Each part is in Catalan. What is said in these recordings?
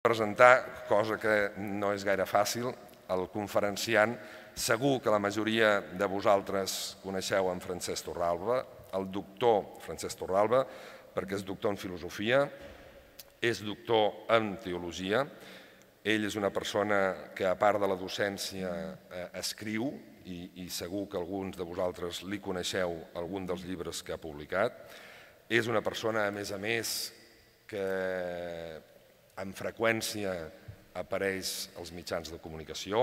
presentar, cosa que no és gaire fàcil, el conferenciant. Segur que la majoria de vosaltres coneixeu en Francesc Torralba, el doctor Francesc Torralba, perquè és doctor en filosofia, és doctor en teologia. Ell és una persona que, a part de la docència, escriu, i segur que alguns de vosaltres li coneixeu algun dels llibres que ha publicat. És una persona, a més, que amb freqüència apareix als mitjans de comunicació,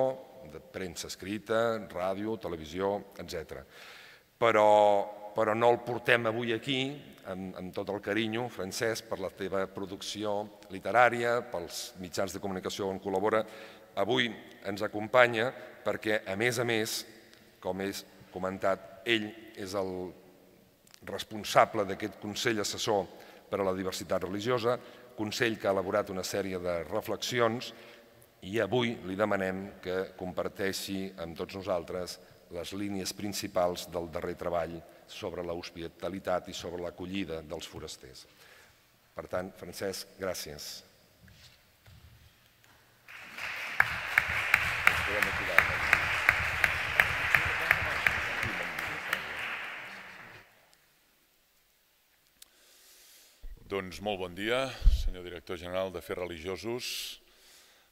de premsa escrita, ràdio, televisió, etc. Però no el portem avui aquí, amb tot el carinyo, Francesc, per la teva producció literària, pels mitjans de comunicació on col·labora. Avui ens acompanya perquè, a més, com he comentat, ell és el responsable d'aquest Consell Assessor per a la Diversitat Religiosa, Consell que ha elaborat una sèrie de reflexions, i avui li demanem que comparteixi amb tots nosaltres les línies principals del darrer treball sobre l'hospitalitat i sobre l'acollida dels forasters. Per tant, Francesc, gràcies. Doncs molt bon dia, senyor director general d'Afers Religiosos,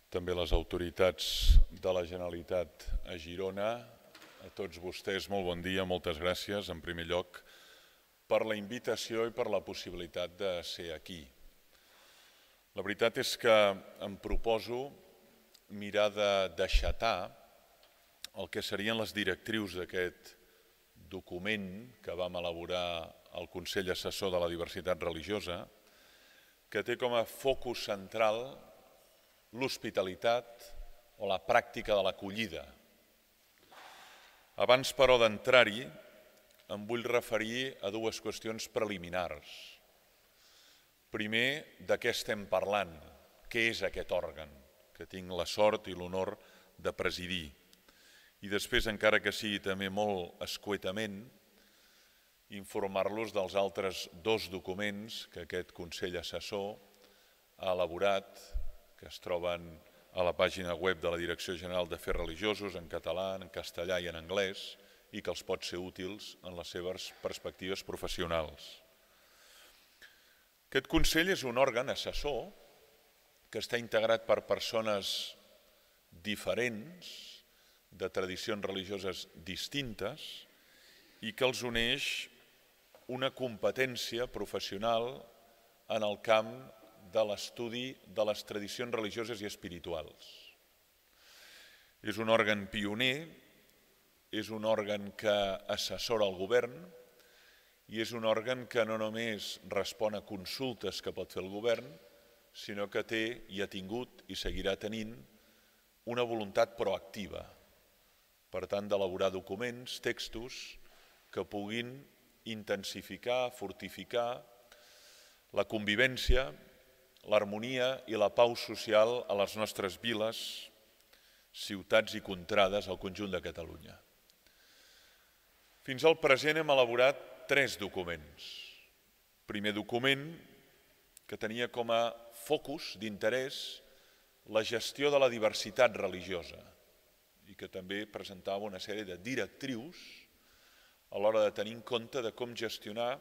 també les autoritats de la Generalitat a Girona, a tots vostès molt bon dia, moltes gràcies en primer lloc per la invitació i per la possibilitat de ser aquí. La veritat és que em proposo mirar de deixatar el que serien les directrius d'aquest document que vam elaborar al Consell Assessor de la Diversitat Religiosa, que té com a focus central l'hospitalitat o la pràctica de l'acollida. Abans, però, d'entrar-hi, em vull referir a dues qüestions preliminars. Primer, de què estem parlant? Què és aquest òrgan que tinc la sort i l'honor de presidir? I després, encara que sigui també molt escuetament, informar-los dels altres dos documents que aquest Consell Assessor ha elaborat, que es troben a la pàgina web de la Direcció General d'Afers Religiosos en català, en castellà i en anglès, i que els pot ser útils en les seves perspectives professionals. Aquest Consell és un òrgan assessor que està integrat per persones diferents, de tradicions religioses distintes, i que els uneix una competència professional en el camp de l'estudi de les tradicions religioses i espirituals. És un òrgan pioner, és un òrgan que assessora el govern i és un òrgan que no només respon a consultes que pot fer el govern, sinó que té i ha tingut i seguirà tenint una voluntat proactiva, per tant, d'elaborar documents, textos que puguin intensificar, fortificar la convivència, l'harmonia i la pau social a les nostres viles, ciutats i contrades al conjunt de Catalunya. Fins al present hem elaborat 3 documents. Primer document, que tenia com a focus d'interès la gestió de la diversitat religiosa i que també presentava una sèrie de directrius a l'hora de tenir en compte de com gestionar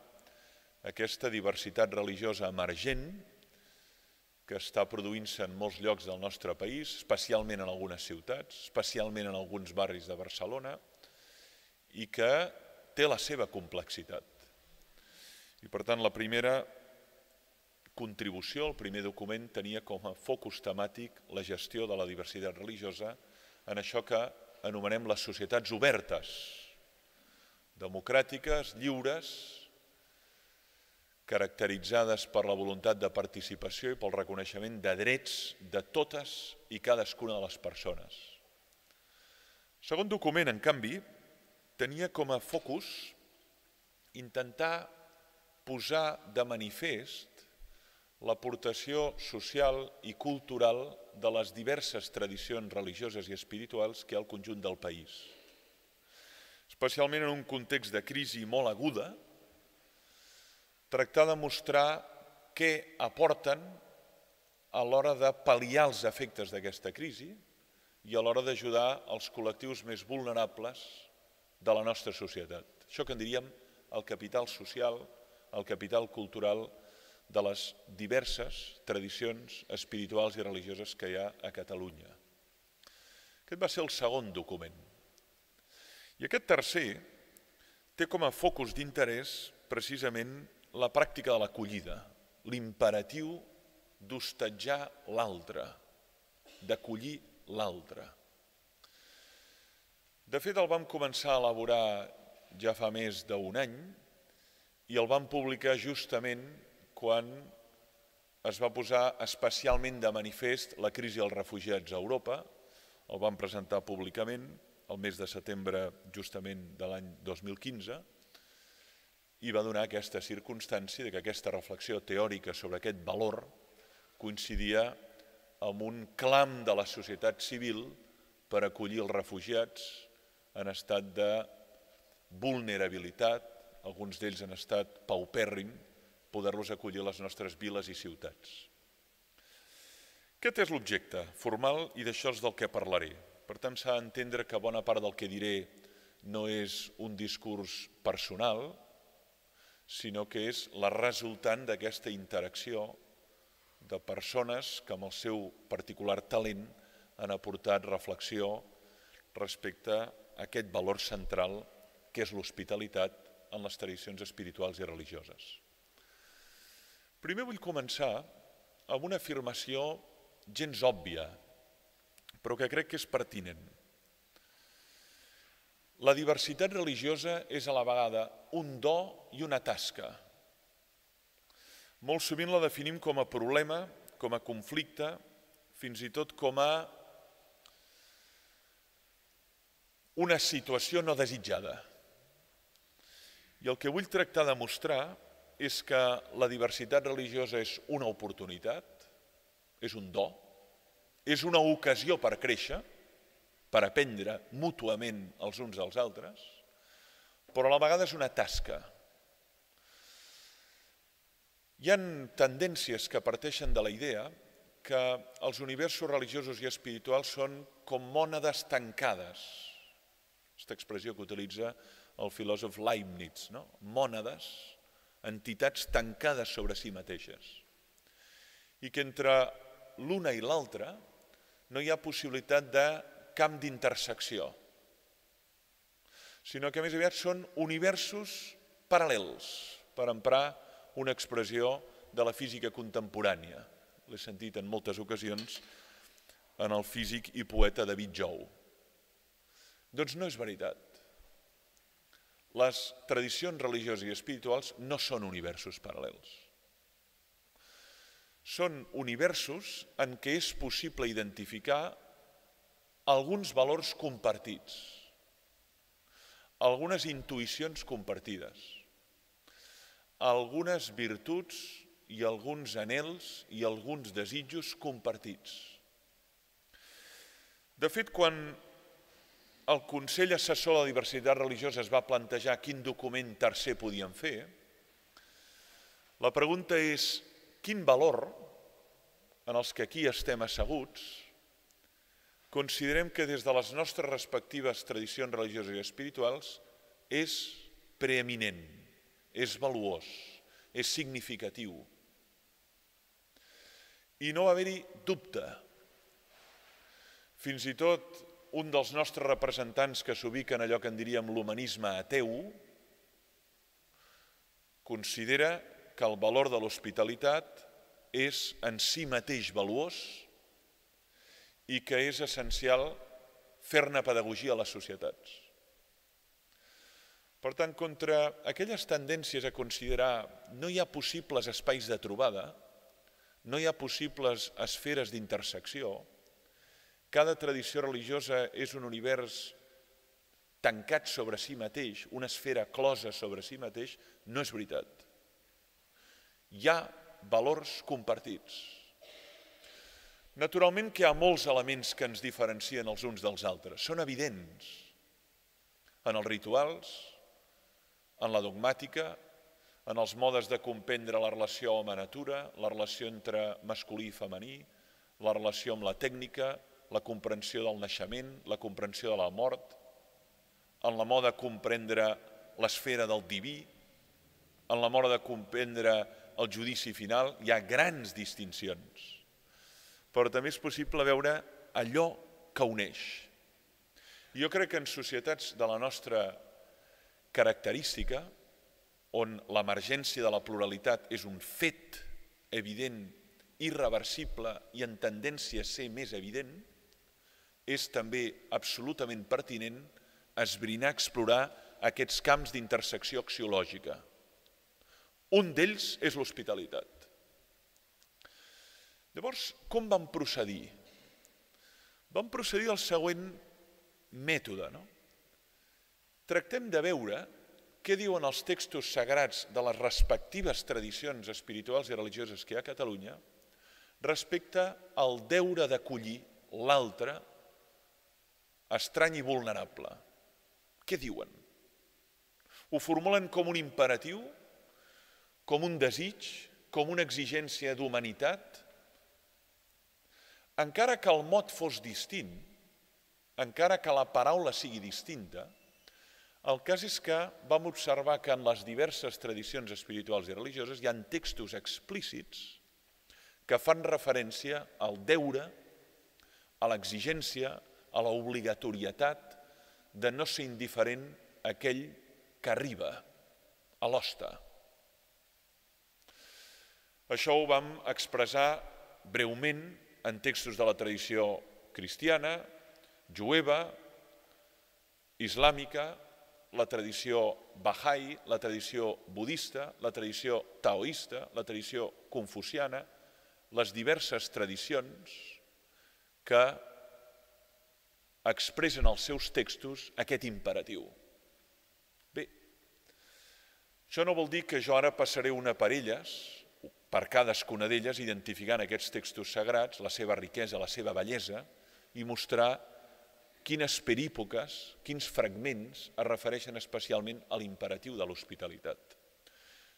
aquesta diversitat religiosa emergent que està produint-se en molts llocs del nostre país, especialment en algunes ciutats, especialment en alguns barris de Barcelona, i que té la seva complexitat. I per tant, la primera contribució, el primer document, tenia com a focus temàtic la gestió de la diversitat religiosa en això que anomenem les societats obertes, democràtiques, lliures, caracteritzades per la voluntat de participació i pel reconeixement de drets de totes i cadascuna de les persones. El segon document, en canvi, tenia com a focus intentar posar de manifest l'aportació social i cultural de les diverses tradicions religioses i espirituals que hi ha al conjunt del país. Especialment en un context de crisi molt aguda, tractar de mostrar què aporten a l'hora de pal·liar els efectes d'aquesta crisi i a l'hora d'ajudar els col·lectius més vulnerables de la nostra societat. Això que en diríem el capital social, el capital cultural de les diverses tradicions espirituals i religioses que hi ha a Catalunya. Aquest va ser el segon document. I aquest tercer té com a focus d'interès precisament la pràctica de l'acollida, l'imperatiu d'hostatjar l'altre, d'acollir l'altre. De fet, el vam començar a elaborar ja fa més d'un any i el vam publicar justament quan es va posar especialment de manifest la crisi dels refugiats a Europa. El vam presentar públicament el mes de setembre justament de l'any 2015 i va donar aquesta circumstància que aquesta reflexió teòrica sobre aquest valor coincidia amb un clam de la societat civil per acollir els refugiats en estat de vulnerabilitat, alguns d'ells en estat paupèrrim, poder-los acollir a les nostres viles i ciutats. Aquest és l'objecte formal i d'això és del que parlaré. Per tant, s'ha d'entendre que bona part del que diré no és un discurs personal, sinó que és la resultant d'aquesta interacció de persones que amb el seu particular talent han aportat reflexió respecte a aquest valor central que és l'hospitalitat en les tradicions espirituals i religioses. Primer vull començar amb una afirmació gens òbvia, però que crec que és pertinent. La diversitat religiosa és a la vegada un do i una tasca. Molt sovint la definim com a problema, com a conflicte, fins i tot com a una situació no desitjada. I el que vull tractar de mostrar és que la diversitat religiosa és una oportunitat, és un do, és una ocasió per créixer, per aprendre mútuament els uns dels altres, però a la vegada és una tasca. Hi ha tendències que parteixen de la idea que els universos religiosos i espirituals són com mònades tancades. Aquesta expressió que utilitza el filòsof Leibniz, no? Mònades, entitats tancades sobre si mateixes. I que entre l'una i l'altra no hi ha possibilitat de camp d'intersecció, sinó que més aviat són universos paral·lels, per emprar una expressió de la física contemporània. L'he sentit en moltes ocasions en el físic i poeta David Jou. Doncs no és veritat. Les tradicions religioses i espirituals no són universos paral·lels. Són universos en què és possible identificar alguns valors compartits, algunes intuïcions compartides, algunes virtuts i alguns anhels i alguns desitjos compartits. De fet, quan el Consell Assessor de la Diversitat Religiosa es va plantejar quin document tercer podien fer, la pregunta és quin valor, en els que aquí estem asseguts, considerem que des de les nostres respectives tradicions religioses i espirituals és preeminent, és valuós, és significatiu. I no va haver-hi dubte. Fins i tot un dels nostres representants que s'ubica en allò que en diríem l'humanisme ateu considera que el valor de l'hospitalitat és en si mateix valuós i que és essencial fer-ne pedagogia a les societats. Per tant, contra aquelles tendències a considerar no hi ha possibles espais de trobada, no hi ha possibles esferes d'intersecció, cada tradició religiosa és un univers tancat sobre si mateix, una esfera closa sobre si mateix, no és veritat. Hi ha valors compartits. Naturalment que hi ha molts elements que ens diferencien els uns dels altres. Són evidents en els rituals, en la dogmàtica, en els modes de comprendre la relació home-natura, la relació entre masculí i femení, la relació amb la tècnica, la comprensió del naixement, la comprensió de la mort, en la moda de comprendre l'esfera del diví, en la moda de comprendre el judici final. Hi ha grans distincions, però també és possible veure allò que uneix. Jo crec que en societats de la nostra característica, on l'emergència de la pluralitat és un fet evident, irreversible i en tendència a ser més evident, és també absolutament pertinent esbrinar, explorar aquests camps d'intersecció axiològica. Un d'ells és l'hospitalitat. Llavors, com vam procedir? Vam procedir del següent mètode. Tractem de veure què diuen els textos sagrats de les respectives tradicions espirituals i religioses que hi ha a Catalunya respecte al deure d'acollir l'altre estrany i vulnerable. Què diuen? Ho formulen com un imperatiu, com un desig, com una exigència d'humanitat? Encara que el mot fos distint, encara que la paraula sigui distinta, el cas és que vam observar que en les diverses tradicions espirituals i religioses hi ha textos explícits que fan referència al deure, a l'exigència, a l'obligatorietat de no ser indiferent a aquell que arriba, a l'hoste. Això ho vam expressar breument en textos de la tradició cristiana, jueva, islàmica, la tradició Bahá'í, la tradició budista, la tradició taoista, la tradició confuciana, les diverses tradicions que expressen als seus textos aquest imperatiu. Bé, això no vol dir que jo ara passaré una per elles, per cadascuna d'elles, identificant aquests textos sagrats, la seva riquesa, la seva bellesa, i mostrar quines perípoques, quins fragments es refereixen especialment a l'imperatiu de l'hospitalitat,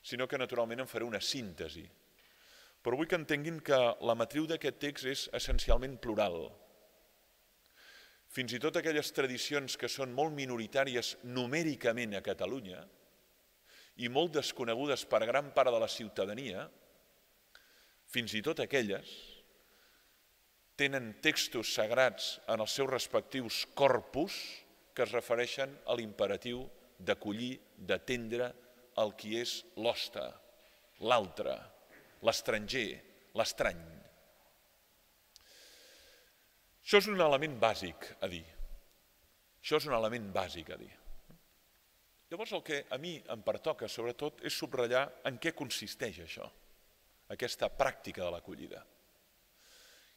sinó que naturalment en faré una síntesi. Però vull que entenguin que la matriu d'aquest text és essencialment plural. Fins i tot aquelles tradicions que són molt minoritàries numèricament a Catalunya i molt desconegudes per gran part de la ciutadania, fins i tot aquelles tenen textos sagrats en els seus respectius corpus que es refereixen a l'imperatiu d'acollir, d'atendre el qui és l'hoste, l'altre, l'estranger, l'estrany. Això és un element bàsic a dir. Això és un element bàsic a dir. Llavors el que a mi em pertoca sobretot és subratllar en què consisteix això, aquesta pràctica de l'acollida.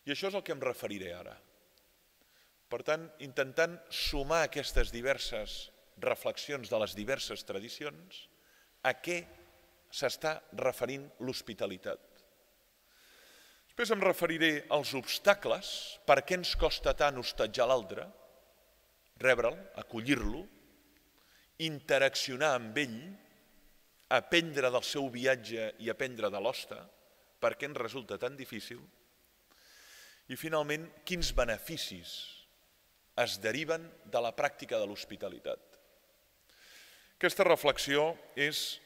I això és el que em referiré ara. Per tant, intentant sumar aquestes diverses reflexions de les diverses tradicions, a què s'està referint l'hospitalitat. Després em referiré als obstacles, per què ens costa tant hostatjar l'altre, rebre'l, acollir-lo, interaccionar amb ell, aprendre del seu viatge i aprendre de l'hoste, per què ens resulta tan difícil, i finalment, quins beneficis es deriven de la pràctica de l'hospitalitat. Aquesta reflexió és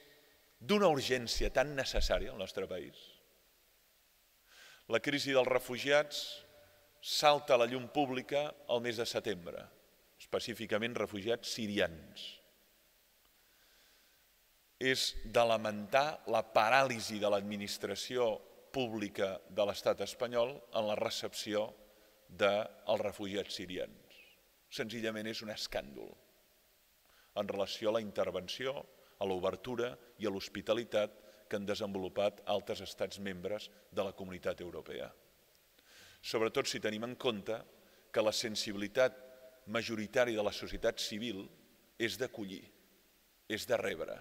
d'una urgència tan necessària al nostre país. La crisi dels refugiats salta a la llum pública el mes de setembre, específicament refugiats sirians. És de lamentar la paràlisi de l'administració pública de l'estat espanyol en la recepció dels refugiats sirians. Senzillament és un escàndol en relació a la intervenció, a l'obertura i a l'hospitalitat que han desenvolupat altres estats membres de la Comunitat Europea. Sobretot si tenim en compte que la sensibilitat majoritària de la societat civil és d'acollir, és de rebre,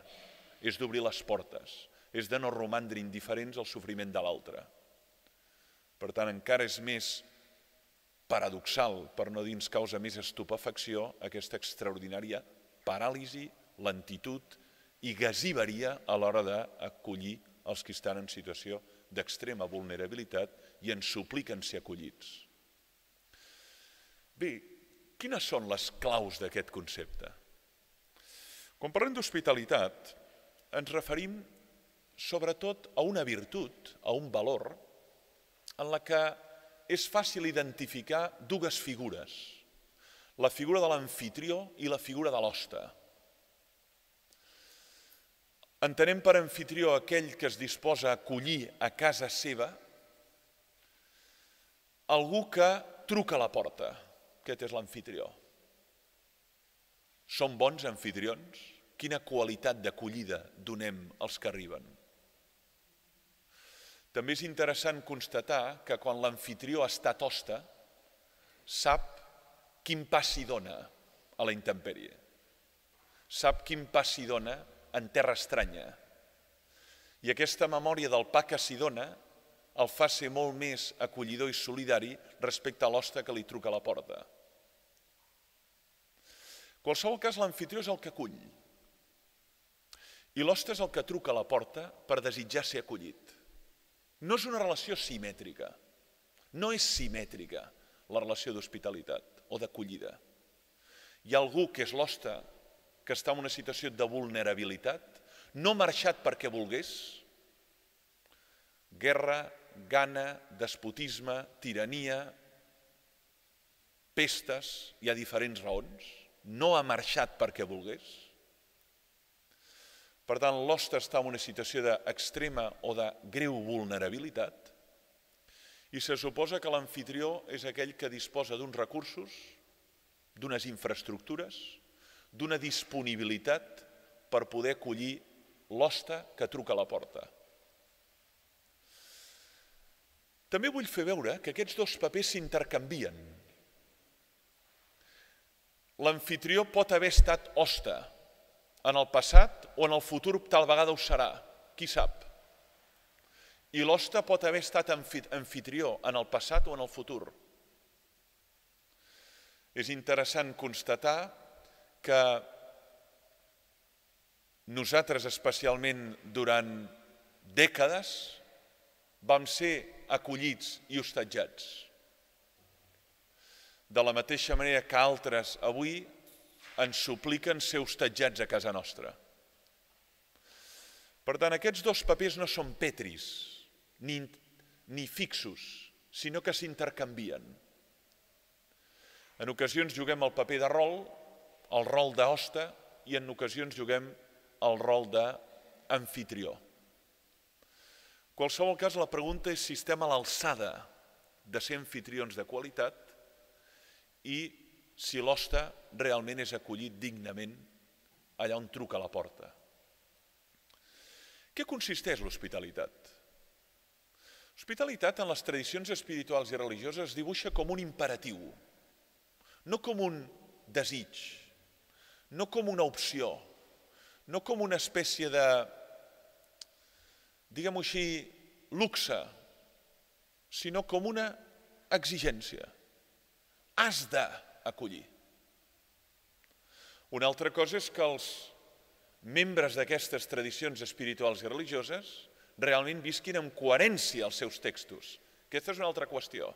és d'obrir les portes, és de no romandre indiferents al sofriment de l'altre. Per tant, encara és més paradoxal, per no dir ens causa més estupefacció, aquesta extraordinària paràlisi, lentitud i gasiveria a l'hora d'acollir els que estan en situació d'extrema vulnerabilitat i ens supliquen ser acollits. Bé, quines són les claus d'aquest concepte? Quan parlem d'hospitalitat, ens referim sobretot a una virtut, a un valor, en la que és fàcil identificar dues figures, la figura de l'amfitrió i la figura de l'hoste. Entenem per amfitrió aquell que es disposa a acollir a casa seva algú que truca a la porta. Aquest és l'amfitrió. Som bons amfitrions? Quina qualitat d'acollida donem als que arriben? També és interessant constatar que quan l'amfitrió ha estat hoste, sap quin pas s'hi dona a la intempèrie. Sap quin pas s'hi dona en terra estranya. I aquesta memòria del pa que s'hi dona el fa ser molt més acollidor i solidari respecte a l'hoste que li truca a la porta. En qualsevol cas, l'amfitrió és el que acull. I l'hoste és el que truca a la porta per desitjar ser acollit. No és una relació simètrica. No és simètrica la relació d'hospitalitat o d'acollida. Hi ha algú que és l'hoste que està en una situació de vulnerabilitat, no ha marxat perquè volgués, guerra, gana, despotisme, tirania, pestes, hi ha diferents raons, no ha marxat perquè volgués. Per tant, l'hoste està en una situació d'extrema o de greu vulnerabilitat i se suposa que l'amfitrió és aquell que disposa d'uns recursos, d'unes infraestructures, d'una disponibilitat per poder acollir l'hoste que truca a la porta. També vull fer veure que aquests dos papers s'intercanvien. L'amfitrió pot haver estat hoste en el passat o en el futur tal vegada ho serà, qui sap. I l'hoste pot haver estat amfitrió en el passat o en el futur. És interessant constatar que nosaltres, especialment durant dècades, vam ser acollits i hostatjats. De la mateixa manera que altres avui ens supliquen ser hostatjats a casa nostra. Per tant, aquests dos papers no són petris ni fixos, sinó que s'intercanvien. En ocasions juguem el paper de rol, el rol d'hoste, i en ocasions juguem el rol d'amfitrió. En qualsevol cas, la pregunta és si estem a l'alçada de ser anfitrions de qualitat i si l'hoste realment és acollit dignament allà on truca a la porta. Què consisteix l'hospitalitat? L'hospitalitat en les tradicions espirituals i religioses es dibuixa com un imperatiu, no com un desig, no com una opció, no com una espècie de, diguem-ho així, luxe, sinó com una exigència. Has d'acollir. Una altra cosa és que els membres d'aquestes tradicions espirituals i religioses realment visquin amb coherència els seus textos. Aquesta és una altra qüestió.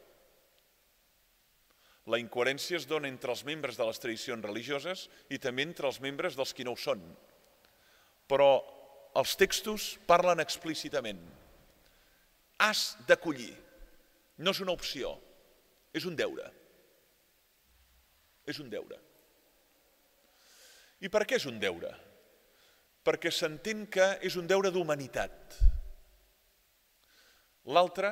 La incoherència es dona entre els membres de les tradicions religioses i també entre els membres dels qui no ho són. Però els textos parlen explícitament. Has d'acollir. No és una opció, és un deure. És un deure. I per què és un deure? Perquè s'entén que és un deure d'humanitat. L'altre,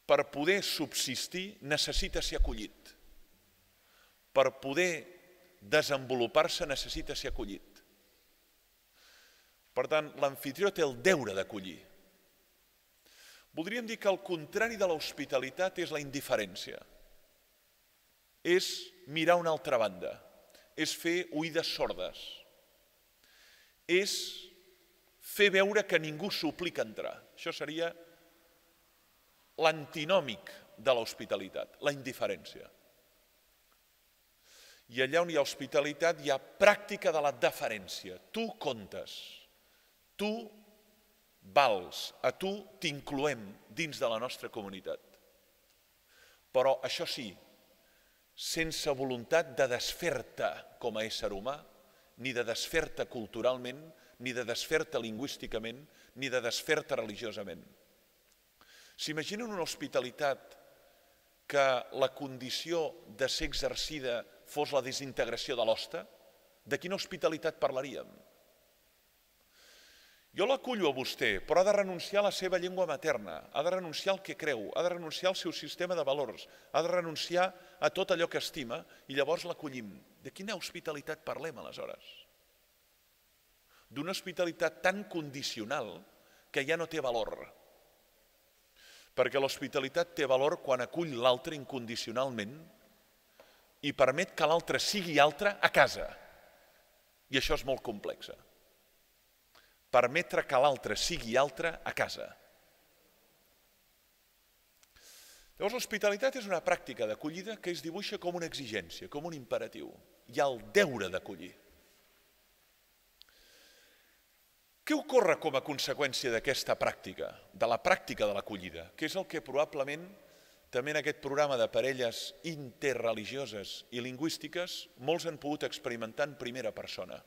per poder subsistir, necessita ser acollit. Per poder desenvolupar-se, necessita ser acollit. Per tant, l'amfitrió té el deure d'acollir. Voldríem dir que el contrari de l'hospitalitat és la indiferència. És mirar una altra banda, és fer oïdes sordes, és fer veure que ningú suplica entrar. Això seria l'antinòmic de l'hospitalitat, la indiferència. I allà on hi ha hospitalitat hi ha pràctica de la deferència. Tu comptes, tu vals, a tu t'incloem dins de la nostra comunitat. Però això sí, sense voluntat de desfer-te com a ésser humà, ni de desfer-te culturalment, ni de desfer-te lingüísticament, ni de desfer-te religiosament. S'imaginen una hospitalitat que la condició de ser exercida fos la desintegració de l'hoste? De quina hospitalitat parlaríem? Jo l'acullo a vostè, però ha de renunciar a la seva llengua materna, ha de renunciar al que creu, ha de renunciar al seu sistema de valors, ha de renunciar a tot allò que estima i llavors l'acollim. De quina hospitalitat parlem aleshores? D'una hospitalitat tan condicional que ja no té valor. Perquè l'hospitalitat té valor quan acull l'altre incondicionalment i permet que l'altre sigui altre a casa. I això és molt complex. Permetre que l'altre sigui altre a casa. Llavors, l'hospitalitat és una pràctica d'acollida que es dibuixa com una exigència, com un imperatiu. Hi ha el deure d'acollir. Què ocorre com a conseqüència d'aquesta pràctica, de la pràctica de l'acollida, que és el que probablement també en aquest programa de parelles interreligioses i lingüístiques molts han pogut experimentar en primera persona?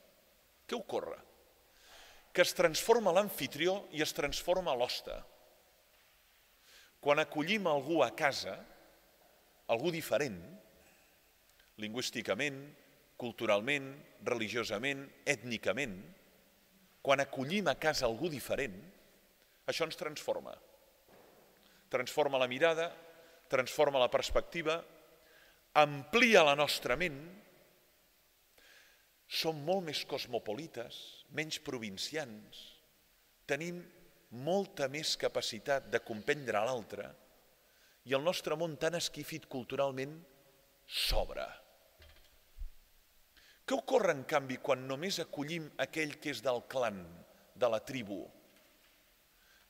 Què ocorre? Que es transforma l'amfitrió i es transforma l'hoste. Quan acollim algú a casa, algú diferent, lingüísticament, culturalment, religiosament, ètnicament, quan acollim a casa algú diferent, això ens transforma. Transforma la mirada, transforma la perspectiva, amplia la nostra ment, som molt més cosmopolites, menys provincians, tenim molta més capacitat de comprendre l'altre i el nostre món tan esquifit culturalment s'obre. Què ocorre, en canvi, quan només acollim aquell que és del clan, de la tribu?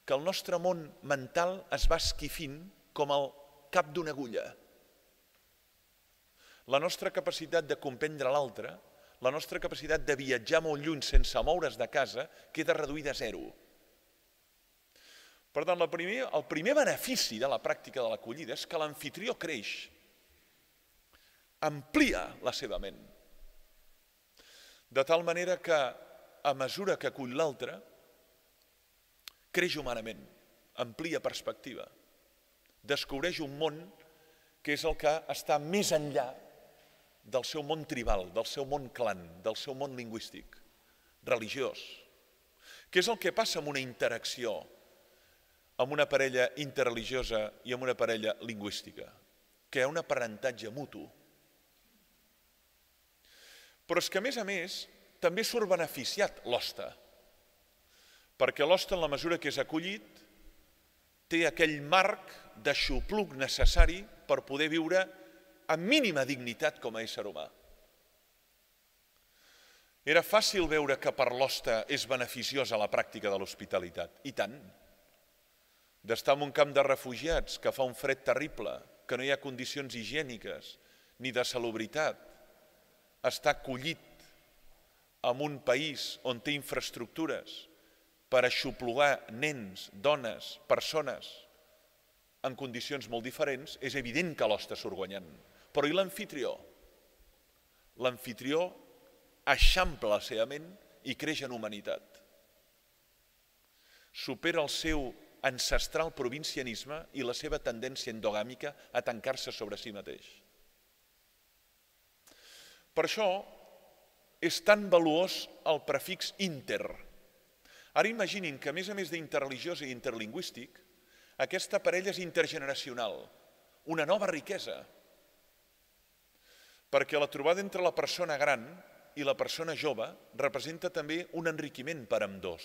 Que el nostre món mental es va esquifint com el cap d'una agulla. La nostra capacitat de comprendre l'altre, la nostra capacitat de viatjar molt lluny sense moure's de casa, queda reduïda a zero. Per tant, el primer benefici de la pràctica de l'acollida és que l'amfitrió creix, amplia la seva ment, de tal manera que, a mesura que acull l'altre, creix humanament, amplia perspectiva, descobreix un món que és el que està més enllà del seu món tribal, del seu món clan, del seu món lingüístic, religiós, que és el que passa amb una interacció amb una parella interreligiosa i amb una parella lingüística, que hi ha un aprenentatge mutu. Però és que, a més, també surt beneficiat l'hoste, perquè l'hoste, en la mesura que és acollit, té aquell marc d'aixopluc necessari per poder viure amb mínima dignitat com a ésser humà. Era fàcil veure que per l'hoste és beneficiosa la pràctica de l'hospitalitat, i tant. D'estar en un camp de refugiats que fa un fred terrible, que no hi ha condicions higièniques ni de salubritat, està acollit en un país on té infraestructures per aixoplugar nens, dones, persones en condicions molt diferents, és evident que l'hoste surt guanyant. Però i l'amfitrió? L'amfitrió eixampla la seva ment i creix en humanitat. Supera el seu ancestral provincianisme i la seva tendència endogàmica a tancar-se sobre si mateix. Per això és tan valuós el prefix inter. Ara imaginin que, a més d'interreligiós i interlingüístic, aquesta parella és intergeneracional, una nova riquesa. Perquè la trobada entre la persona gran i la persona jove representa també un enriquiment per ambdós.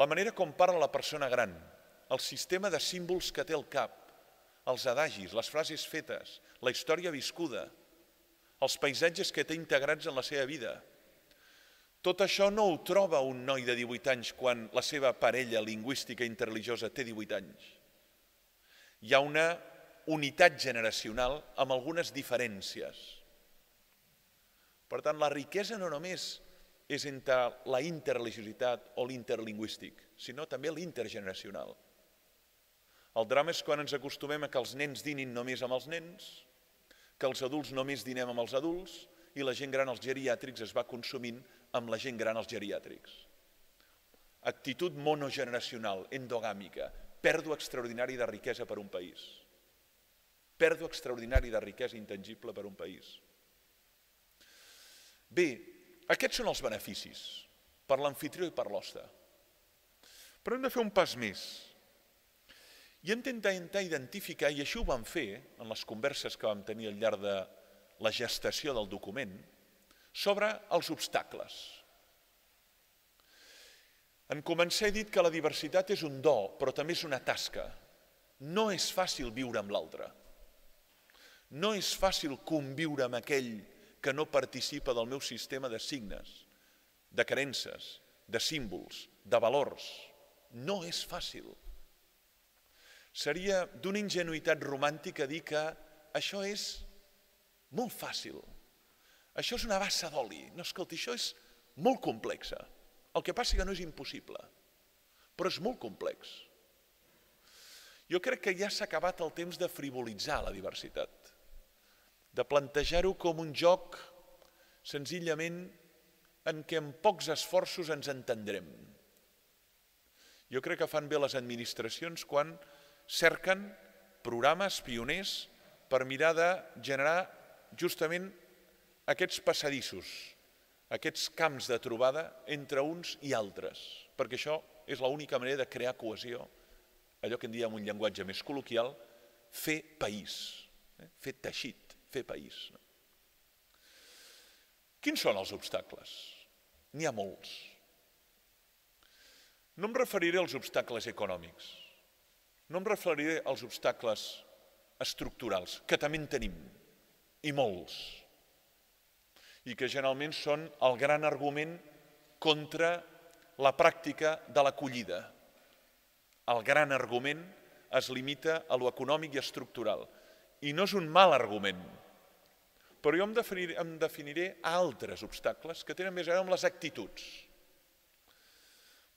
La manera com parla la persona gran, el sistema de símbols que té al cap, els adagis, les frases fetes, la història viscuda, els paisatges que té integrats en la seva vida. Tot això no ho troba un noi de 18 anys quan la seva parella lingüística interreligiosa té 18 anys. Hi ha una unitat generacional amb algunes diferències, Per tant, la riquesa no només és entre la interreligiositat o l'interlingüístic, sinó també l'intergeneracional. El drama és quan ens acostumem a que els nens dinin només amb els nens, que els adults només dinem amb els adults i la gent gran als geriàtrics es va consumint amb la gent gran als geriàtrics. Actitud monogeneracional, endogàmica, pèrdua extraordinària de riquesa per un país. Pèrdua extraordinària de riquesa intangible per un país. Bé, aquests són els beneficis per l'amfitrió i per l'hoste. Però hem de fer un pas més. I hem d'intentar identificar, i així ho vam fer en les converses que vam tenir al llarg de la gestació del document, sobre els obstacles. En començar he dit que la diversitat és un do, però també és una tasca. No és fàcil viure amb l'altre. No és fàcil conviure amb aquell que no participa del meu sistema de signes, de creences, de símbols, de valors. No és fàcil. Seria d'una ingenuïtat romàntica dir que això és molt fàcil. Això és una bassa d'oli. No, escolta, això és molt complexa. El que passa que no és impossible, però és molt complex. Jo crec que ja s'ha acabat el temps de frivolitzar la diversitat, de plantejar-ho com un joc senzillament en què amb pocs esforços ens entendrem. Jo crec que fan bé les administracions quan cerquen programes pioners per mirar de generar justament aquests passadissos, aquests camps de trobada entre uns i altres, perquè això és l'única manera de crear cohesió, allò que en diem un llenguatge més col·loquial, fer país, fer teixit, fer país. Quins són els obstacles? N'hi ha molts. No em referiré als obstacles econòmics, no em referiré als obstacles estructurals, que també en tenim, i molts, i que generalment són el gran argument contra la pràctica de l'acollida. El gran argument es limita a lo econòmic i estructural, i no és un mal argument, però jo em definiré altres obstacles que tenen més a veure amb les actituds.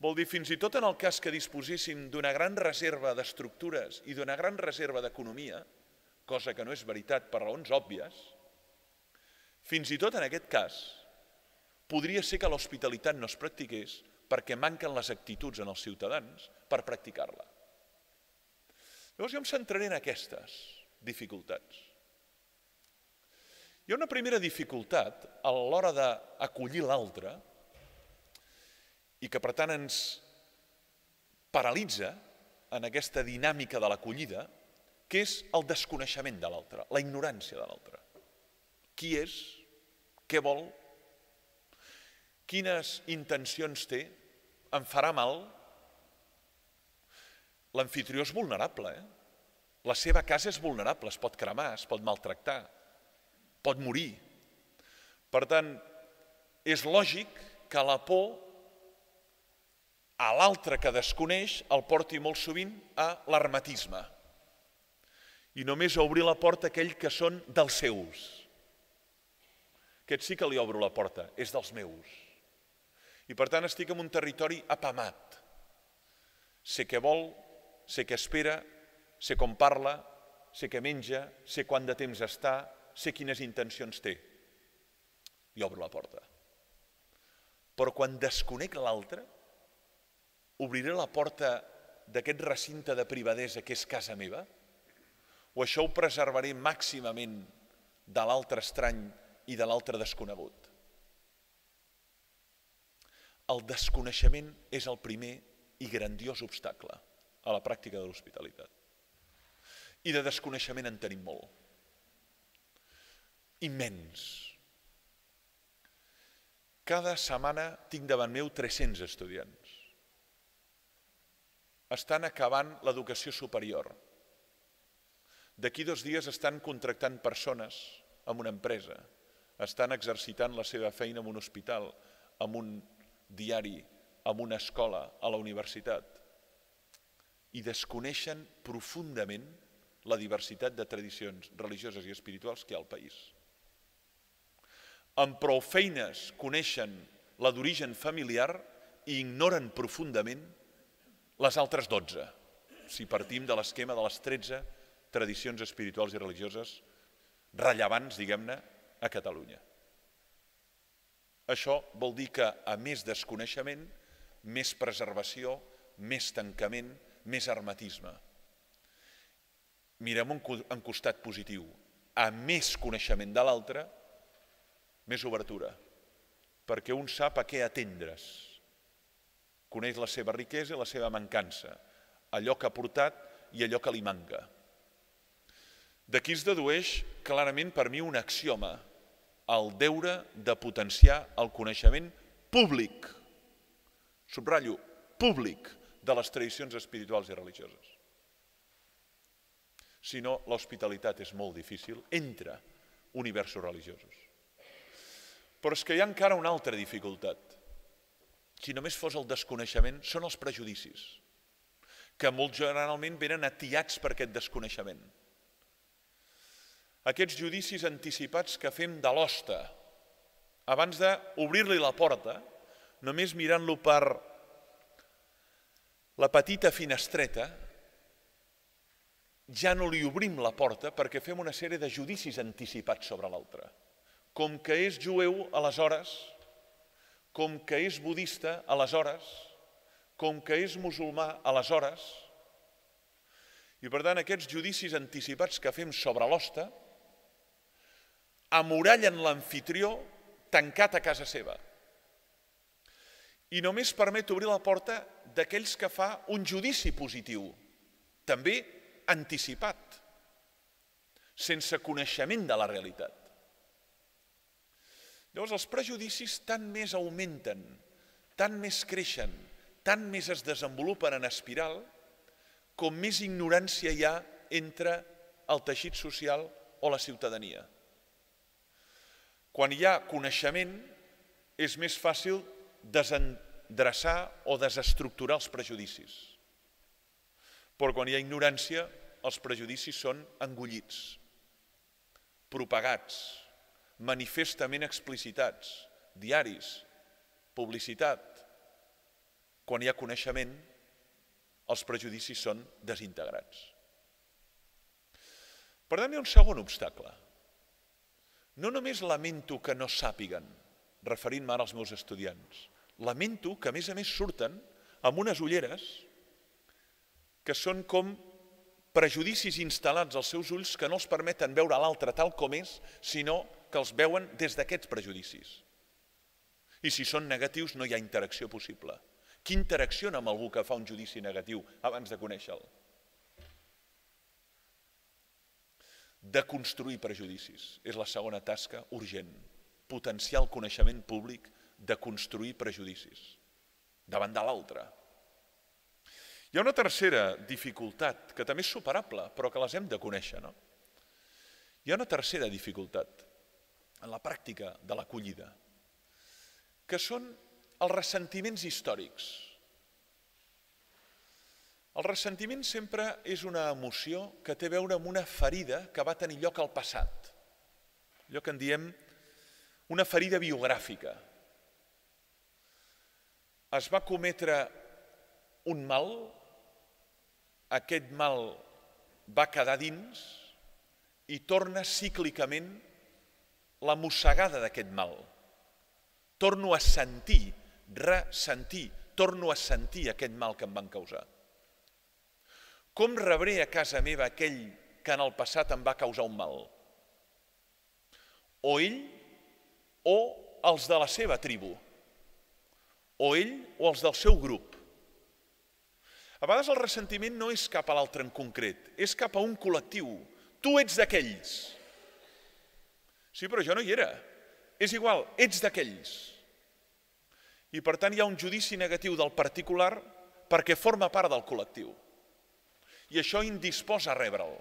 Vol dir, fins i tot en el cas que disposéssim d'una gran reserva d'estructures i d'una gran reserva d'economia, cosa que no és veritat per raons òbvies, fins i tot en aquest cas podria ser que l'hospitalitat no es practiqués perquè manquen les actituds en els ciutadans per practicar-la. Llavors jo em centraré en aquestes dificultats. Hi ha una primera dificultat a l'hora d'acollir l'altre i que per tant ens paralitza en aquesta dinàmica de l'acollida, que és el desconeixement de l'altre, la ignorància de l'altre. Qui és? Què vol? Quines intencions té? Em farà mal? L'amfitrió és vulnerable, La seva casa és vulnerable, es pot cremar, es pot maltractar, pot morir. Per tant, és lògic que la por a l'altre que desconeix el porti molt sovint a l'hermetisme i només a obrir la porta a aquell que són dels seus. Aquest sí que li obro la porta, és dels meus. I per tant estic en un territori apamat. Sé què vol, sé què espera, sé com parla, sé què menja, sé quant de temps està, sé quines intencions té. I obro la porta. Però quan desconec l'altre, obriré la porta d'aquest recinte de privadesa que és casa meva? O això ho preservaré màximament de l'altre estrany i de l'altre desconegut? El desconeixement és el primer i grandiós obstacle a la pràctica de l'hospitalitat. I de desconeixement en tenim molt. Immens. Cada setmana tinc davant meu 300 estudiants. Estan acabant l'educació superior. D'aquí 2 dies estan contractant persones en una empresa, estan exercitant la seva feina en un hospital, en un diari, en una escola, a la universitat, i desconeixen profundament la diversitat de tradicions religioses i espirituals que hi ha al país. amb prou feines coneixen la d'origen familiar i ignoren profundament les altres 12, si partim de l'esquema de les 13 tradicions espirituals i religioses rellevants, diguem-ne, a Catalunya. Això vol dir que, a més desconeixement, més preservació, més tancament, més hermetisme. Mirem un costat positiu. A més coneixement de l'altre, més obertura, perquè un sap a què atendre's. Coneix la seva riquesa i la seva mancança, allò que ha portat i allò que li manca. D'aquí es dedueix clarament per mi un axioma, el deure de potenciar el coneixement públic, subratllo, públic, de les tradicions espirituals i religioses. Si no, l'hospitalitat és molt difícil entre universos religiosos. Però és que hi ha encara una altra dificultat. Si només fos el desconeixement, són els prejudicis, que molt generalment venen atiats per aquest desconeixement. Aquests judicis anticipats que fem de l'hoste, abans d'obrir-li la porta, només mirant-lo per la petita finestreta, ja no li obrim la porta perquè fem una sèrie de judicis anticipats sobre l'altre. Com que és jueu, aleshores, com que és budista, aleshores, com que és musulmà, aleshores. I per tant, aquests judicis anticipats que fem sobre l'hoste amorallen l'amfitrió tancat a casa seva. I només permet obrir la porta d'aquells que fa un judici positiu, també anticipat, sense coneixement de la realitat. Llavors, els prejudicis tant més augmenten, tant més creixen, tant més es desenvolupen en espiral, com més ignorància hi ha entre el teixit social o la ciutadania. Quan hi ha coneixement, és més fàcil desendreçar o desestructurar els prejudicis. Però quan hi ha ignorància, els prejudicis són engollits, propagats, manifestament explicitats, diaris, publicitat. Quan hi ha coneixement, els prejudicis són desintegrats. Per tant, hi ha un segon obstacle. No només lamento que no sàpiguen, referint-me ara als meus estudiants, lamento que a més surten amb unes ulleres que són com prejudicis instal·lats als seus ulls que no els permeten veure l'altre tal com és, sinó que els veuen des d'aquests prejudicis. I si són negatius no hi ha interacció possible. Qui interacciona amb algú que fa un judici negatiu abans de conèixer-lo? De construir prejudicis. És la segona tasca urgent. Potenciar el coneixement públic de construir prejudicis davant de l'altre. Hi ha una tercera dificultat, que també és superable, però que les hem de conèixer. Hi ha una tercera dificultat en la pràctica de l'acollida, que són els ressentiments històrics. El ressentiment sempre és una emoció que té a veure amb una ferida que va tenir lloc al passat. Allò que en diem una ferida biogràfica. Es va cometre un mal, aquest mal va quedar dins i torna cíclicament la mossegada d'aquest mal. Torno a sentir, ressentir, torno a sentir aquest mal que em van causar. Com rebré a casa meva aquell que en el passat em va causar un mal? O ell o els de la seva tribu, o ell o els del seu grup. A vegades el ressentiment no és cap a l'altre en concret, és cap a un col·lectiu. Tu ets d'aquells. Sí, però jo no hi era. És igual, ets d'aquells. I per tant hi ha un judici negatiu del particular perquè forma part del col·lectiu. I això indisposa a rebre'l.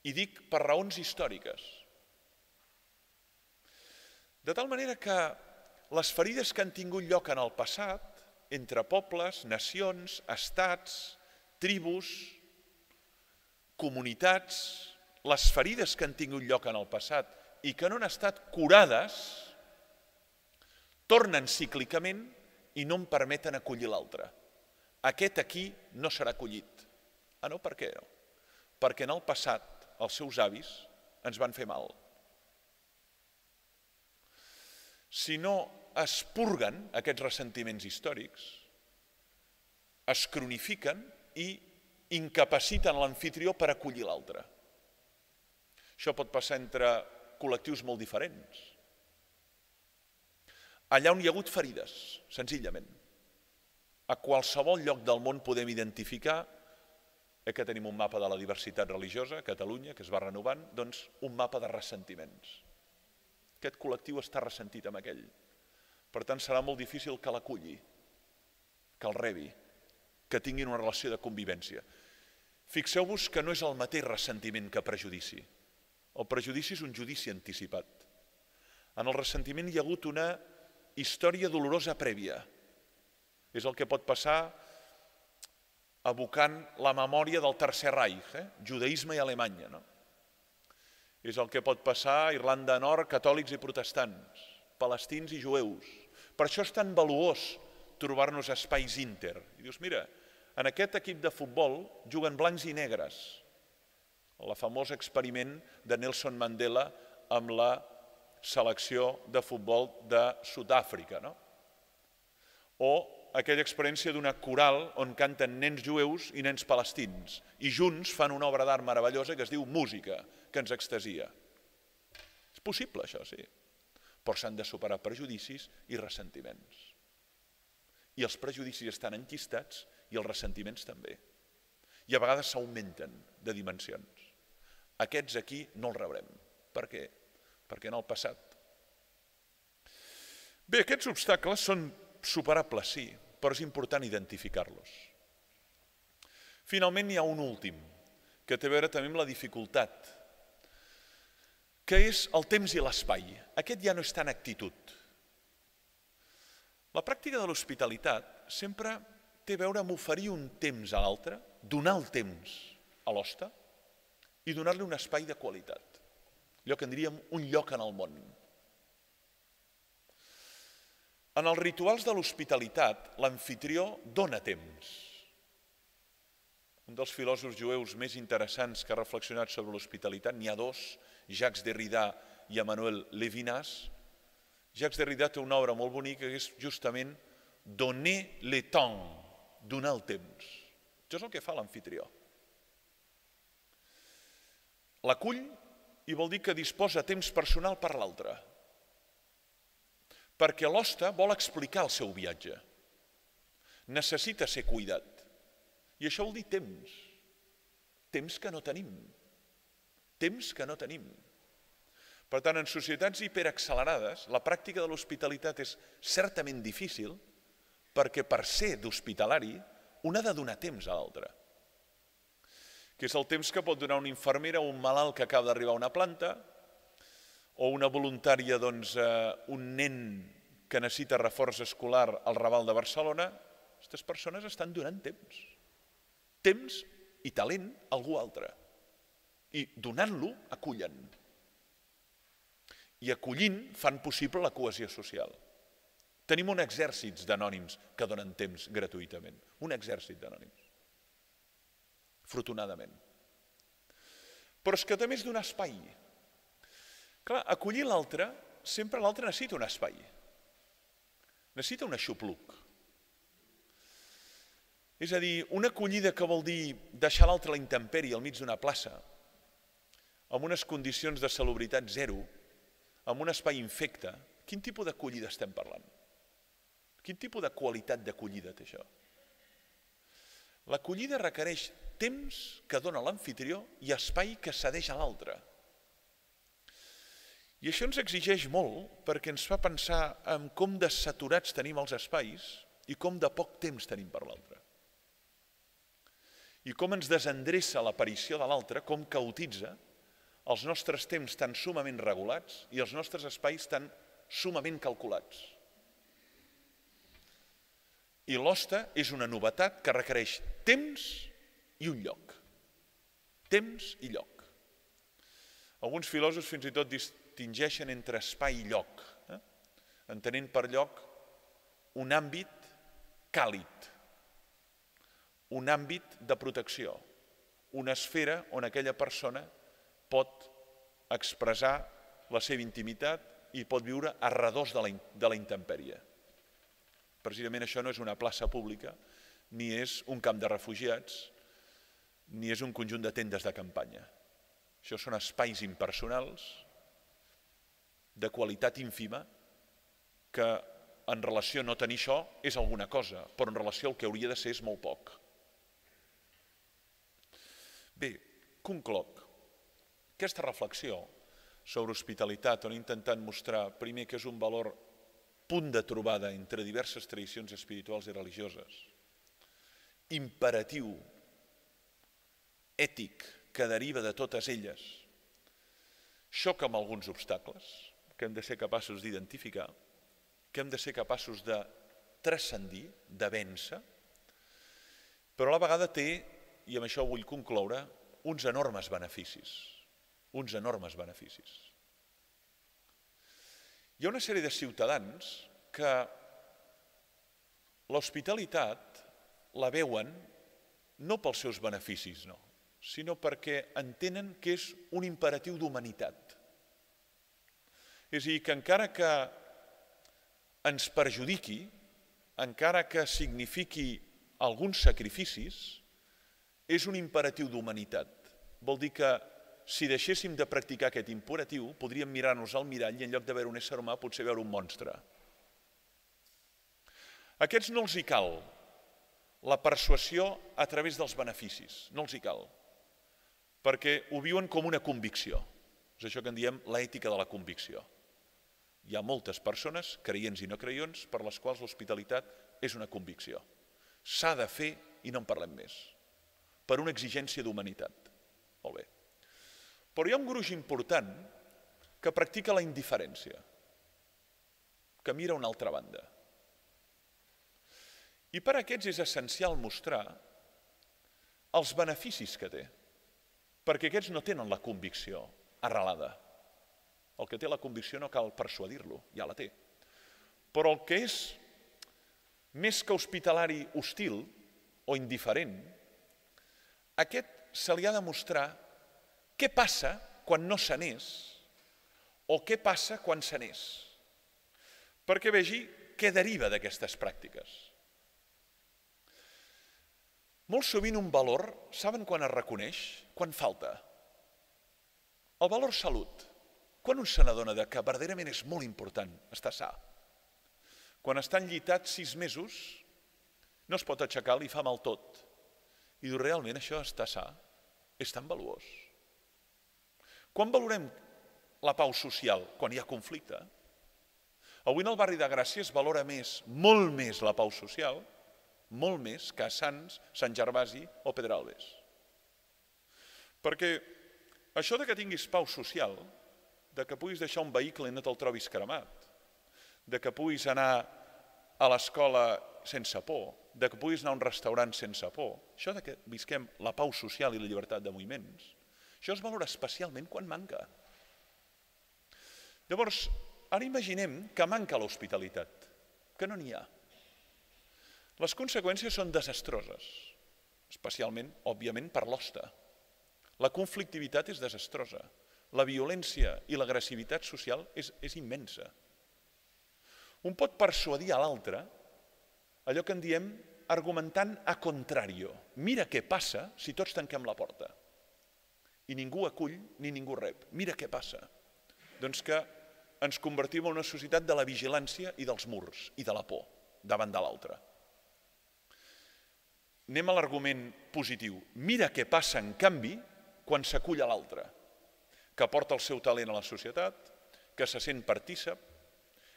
I dic per raons històriques. De tal manera que les ferides que han tingut lloc en el passat, entre pobles, nacions, estats, tribus, comunitats, les ferides que han tingut lloc en el passat i que no han estat curades tornen cíclicament i no en permeten acollir l'altre. Aquest aquí no serà acollit. Ah, no? Per què no? Perquè en el passat els seus avis ens van fer mal. Si no es purguen aquests ressentiments històrics, es cronifiquen i incapaciten l'amfitrió per acollir l'altre. Això pot passar entre col·lectius molt diferents. Allà on hi ha hagut ferides, senzillament. A qualsevol lloc del món podem identificar, que tenim un mapa de la diversitat religiosa a Catalunya, que es va renovant, doncs un mapa de ressentiments. Aquest col·lectiu està ressentit amb aquell. Per tant, serà molt difícil que l'aculli, que el rebi, que tinguin una relació de convivència. Fixeu-vos que no és el mateix ressentiment que prejudici. El prejudici és un judici anticipat. En el ressentiment hi ha hagut una història dolorosa prèvia. És el que pot passar evocant la memòria del Tercer Reich, judaïsme i Alemanya. És el que pot passar a Irlanda Nord, catòlics i protestants, palestins i jueus. Per això és tan valuós trobar-nos espais inter. I dius, mira, en aquest equip de futbol juguen blancs i negres. El famós experiment de Nelson Mandela amb la selecció de futbol de Sud-àfrica. O aquella experiència d'una coral on canten nens jueus i nens palestins i junts fan una obra d'art meravellosa que es diu Música, que ens extasia. És possible això, sí, però s'han de superar prejudicis i ressentiments. I els prejudicis estan enquistats i els ressentiments també. I a vegades s'augmenten de dimensions. Aquests aquí no els rebrem. Per què? Perquè en el passat. Bé, aquests obstacles són superables, sí, però és important identificar-los. Finalment hi ha un últim, que té a veure també amb la dificultat, que és el temps i l'espai. Aquest ja no és tant actitud. La pràctica de l'hospitalitat sempre té a veure amb oferir un temps a l'altre, donar el temps a l'hoste i donar-li un espai de qualitat. Allò que en diríem un lloc en el món. En els rituals de l'hospitalitat, l'amfitrió dona temps. Un dels filòsofs jueus més interessants que ha reflexionat sobre l'hospitalitat, n'hi ha dos, Jacques Derrida i Emmanuel Levinas. Jacques Derrida té una obra molt bonica que és justament donner le temps, donar el temps. Això és el que fa l'amfitrió. L'acull i vol dir que disposa temps personal per l'altre, perquè l'hoste vol explicar el seu viatge. Necessita ser cuidat. I això vol dir temps. Temps que no tenim. Temps que no tenim. Per tant, en societats hiperaccelerades, la pràctica de l'hospitalitat és certament difícil perquè per ser d'hospitalari un ha de donar temps a l'altre. Que és el temps que pot donar una infermera a un malalt que acaba d'arribar a una planta o una voluntària, doncs, un nen que necessita reforç escolar al Raval de Barcelona. Aquestes persones estan donant temps. Temps i talent a algú altre. I donant-lo, acullen. I acollint fan possible la cohesió social. Tenim un exèrcit d'anònims que donen temps gratuïtament. Un exèrcit d'anònims. Afortunadament. Però és que també és d'un espai. Clar, acollir l'altre, sempre l'altre necessita un espai. Necessita un aixopluc. És a dir, una acollida que vol dir deixar l'altre a la intempèrie al mig d'una plaça, amb unes condicions de salubritat zero, amb un espai infecte, quin tipus d'acollida estem parlant? Quin tipus de qualitat d'acollida té això? L'acollida requereix temps que dona l'amfitrió i espai que cedeix a l'altre. I això ens exigeix molt perquè ens fa pensar en com de saturats tenim els espais i com de poc temps tenim per l'altre. I com ens desendreça l'aparició de l'altre, com caotitza els nostres temps tan sumament regulats i els nostres espais tan sumament calculats. I l'hoste és una novetat que requereix temps i un lloc. Temps i lloc. Alguns filòsofs fins i tot distingeixen entre espai i lloc, entenent per lloc un àmbit càlid, un àmbit de protecció, una esfera on aquella persona pot expressar la seva intimitat i pot viure a redós de la intempèrie. Precisament això no és una plaça pública, ni és un camp de refugiats, ni és un conjunt de tendes de campanya. Això són espais impersonals, de qualitat ínfima, que en relació a no tenir això és alguna cosa, però en relació al que hauria de ser és molt poc. Bé, concloc. Aquesta reflexió sobre hospitalitat, on he intentat mostrar primer que és un valor punt de trobada entre diverses tradicions espirituals i religioses, imperatiu, ètic, que deriva de totes elles, xoca amb alguns obstacles que hem de ser capaços d'identificar, que hem de ser capaços de transcendir, de vèncer, però a la vegada té, i amb això vull concloure, uns enormes beneficis. Uns enormes beneficis. Hi ha una sèrie de ciutadans que l'hospitalitat la veuen no pels seus beneficis, no, sinó perquè entenen que és un imperatiu d'humanitat. És a dir, que encara que ens perjudiqui, encara que signifiqui alguns sacrificis, és un imperatiu d'humanitat. Vol dir que si deixéssim de practicar aquest imperatiu, podríem mirar-nos al mirall i en lloc de veure un ésser humà potser veure un monstre. A aquests no els hi cal la persuasió a través dels beneficis, no els hi cal, perquè ho viuen com una convicció. És això que en diem l'ètica de la convicció. Hi ha moltes persones, creients i no creients, per les quals l'hospitalitat és una convicció. S'ha de fer i no en parlem més, per una exigència d'humanitat. Molt bé. Però hi ha un gruix important que practica la indiferència, que mira a una altra banda. I per a aquests és essencial mostrar els beneficis que té, perquè aquests no tenen la convicció arrelada. El que té la convicció no cal persuadir-lo, ja la té. Però el que és més que hospitalari hostil o indiferent, aquest se li ha de mostrar què passa quan no se n'és o què passa quan se n'és, perquè vegi què deriva d'aquestes pràctiques. Molt sovint un valor, saben quan es reconeix? Quan falta. El valor salut. Quan un se n'adona que verdaderament és molt important estar sa? Quan està enllitat 6 mesos, no es pot aixecar, li fa mal tot. I diu, realment això està sa? És tan valuós. Quan valorem la pau social? Quan hi ha conflicte. Avui en el barri de Gràcia es valora més, molt més la pau social, molt més que a Sants, Sant Gervasi o Pedralbes. Perquè això de que tinguis pau social, de que puguis deixar un vehicle i no te'l trobis cremat, de que puguis anar a l'escola sense por, de que puguis anar a un restaurant sense por, això de que visquem la pau social i la llibertat de moviments, això es valora especialment quan manca. Llavors, ara imaginem que manca l'hospitalitat, que no n'hi ha. Les conseqüències són desastroses, especialment, òbviament, per l'hoste. La conflictivitat és desastrosa. La violència i l'agressivitat social és immensa. Un pot persuadir a l'altre allò que en diem argumentant a contrario. Mira què passa si tots tanquem la porta. I ningú acull ni ningú rep. Mira què passa. Doncs que ens convertim en una societat de la vigilància i dels murs i de la por davant de l'altre. Anem a l'argument positiu. Mira què passa, en canvi, quan s'acull a l'altre, que porta el seu talent a la societat, que se sent partícip,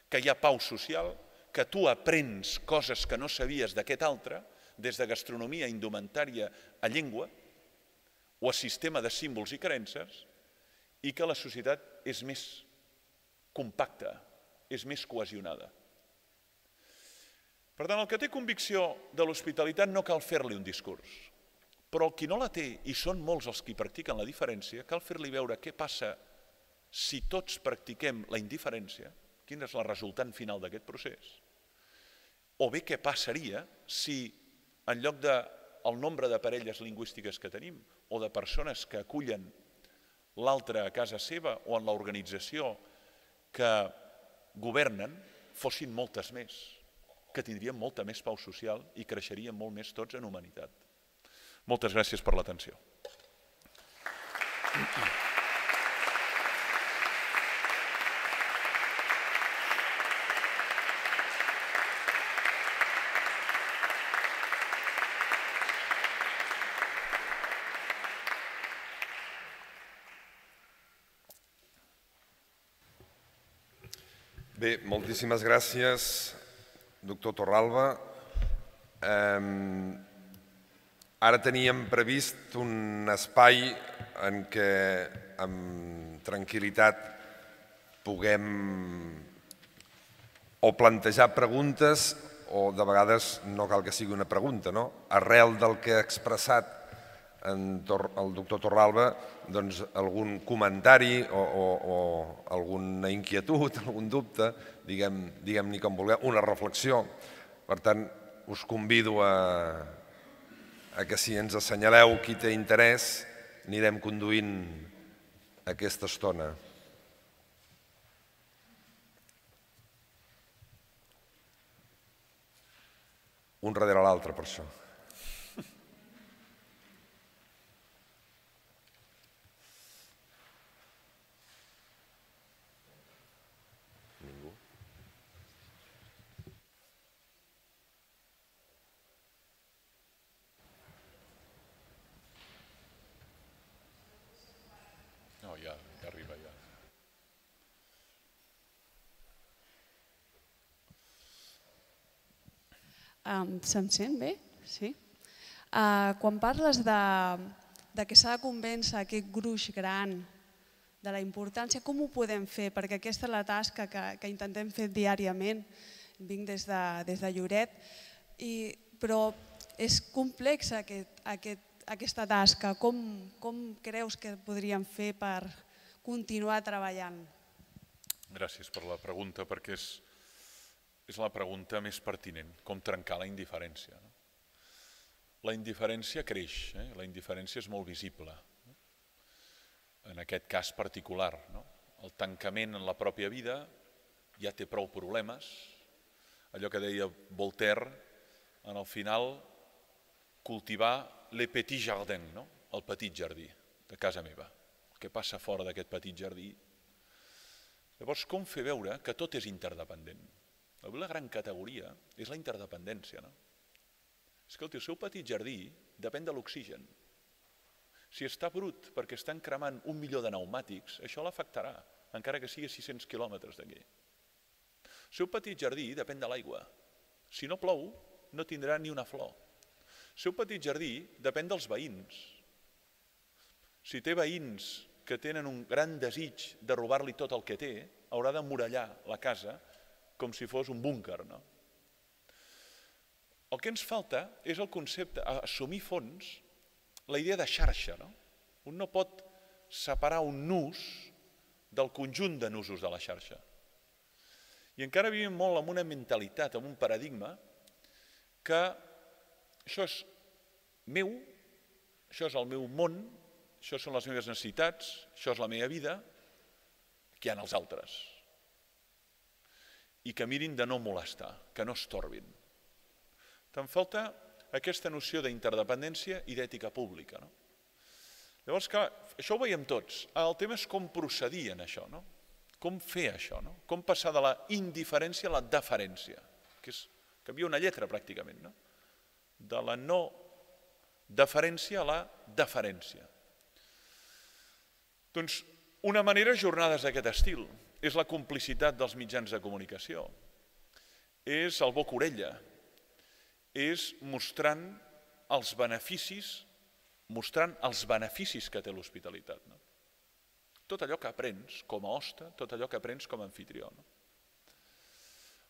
que hi ha pau social, que tu aprens coses que no sabies d'aquest altre, des de gastronomia, indumentària, a llengua, o a sistema de símbols i creences, i que la societat és més compacta, és més cohesionada. Per tant, el que té convicció de l'hospitalitat no cal fer-li un discurs, però el qui no la té, i són molts els qui practiquen la diferència, cal fer-li veure què passa si tots practiquem la indiferència, quina és la resultant final d'aquest procés? O bé què passaria si en lloc del nombre de parelles lingüístiques que tenim o de persones que acullen l'altre a casa seva o en l'organització que governen fossin moltes més, que tindríem molta més pau social i creixeríem molt més tots en humanitat. Moltes gràcies per l'atenció. Bé, moltíssimes gràcies, doctor Torralba. Ara teníem previst un espai en què amb tranquil·litat puguem o plantejar preguntes o de vegades no cal que sigui una pregunta, no? Arrel del que ha expressat el doctor Torralba, doncs algun comentari o alguna inquietud, algun dubte, diguem-ne com vulgueu, una reflexió. Per tant, us convido a que si ens assenyaleu qui té interès, anirem conduint aquesta estona. Un darrere l'altre, per això. No, ja arriba, ja. Se'm sent bé? Sí. Quan parles de que s'ha de convèncer aquest gruix gran de la importància, com ho podem fer? Perquè aquesta és la tasca que intentem fer diàriament. Vinc des de Lloret, però és complexa aquesta tasca. Com creus que podríem fer per continuar treballant? Gràcies per la pregunta, perquè és la pregunta més pertinent, com trencar la indiferència. La indiferència creix, la indiferència és molt visible. En aquest cas particular, el tancament en la pròpia vida ja té prou problemes. Allò que deia Voltaire, en el final, cultivar le petit jardin, el petit jardí de casa meva. El que passa fora d'aquest petit jardí. Llavors, com fer veure que tot és interdependent? La gran categoria és la interdependència. És que el seu petit jardí depèn de l'oxigen. Si està brut perquè estan cremant 1 milió de pneumàtics, això l'afectarà, encara que sigui a 600 quilòmetres d'aquí. El seu petit jardí depèn de l'aigua. Si no plou, no tindrà ni una flor. El seu petit jardí depèn dels veïns. Si té veïns que tenen un gran desig de robar-li tot el que té, haurà d'emmurallar la casa com si fos un búnquer. El que ens falta és el concepte, assumir fons, la idea de xarxa. Un no pot separar un nus del conjunt de nusos de la xarxa. I encara vivim molt amb una mentalitat, amb un paradigma, que això és meu, això és el meu món, això són les meves necessitats, això és la meva vida, que hi ha els altres. I que mirin de no molestar, que no estorbin. Te'n falta aquesta noció d'interdependència i d'ètica pública. Llavors, clar, això ho veiem tots. El tema és com procedir en això, com fer això, com passar de la indiferència a la deferència, que canvia una lletra pràcticament, de la no deferència a la deferència. Doncs una manera és jornades d'aquest estil, és la complicitat dels mitjans de comunicació, és el boca-orella, és mostrant els beneficis que té l'hospitalitat. Tot allò que aprens com a hoste, tot allò que aprens com a anfitrió.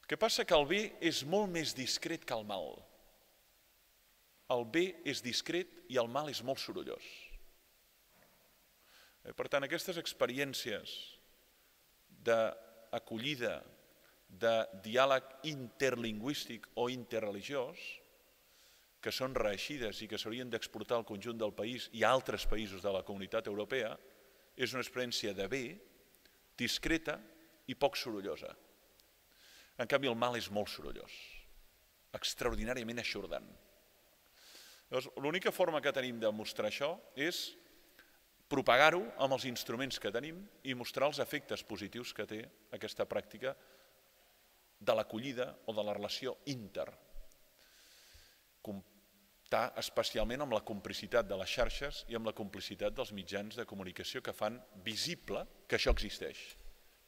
El que passa que el bé és molt més discret que el mal. El bé és discret i el mal és molt sorollós. Per tant, aquestes experiències d'acollida, de diàleg interlingüístic o interreligiós, que són reeixides i que s'haurien d'exportar al conjunt del país i a altres països de la comunitat europea, és una experiència de bé, discreta i poc sorollosa. En canvi, el mal és molt sorollós, extraordinàriament eixordant. L'única forma que tenim de mostrar això és propagar-ho amb els instruments que tenim i mostrar els efectes positius que té aquesta pràctica de l'acollida o de la relació inter. Comptar especialment amb la complicitat de les xarxes i amb la complicitat dels mitjans de comunicació que fan visible que això existeix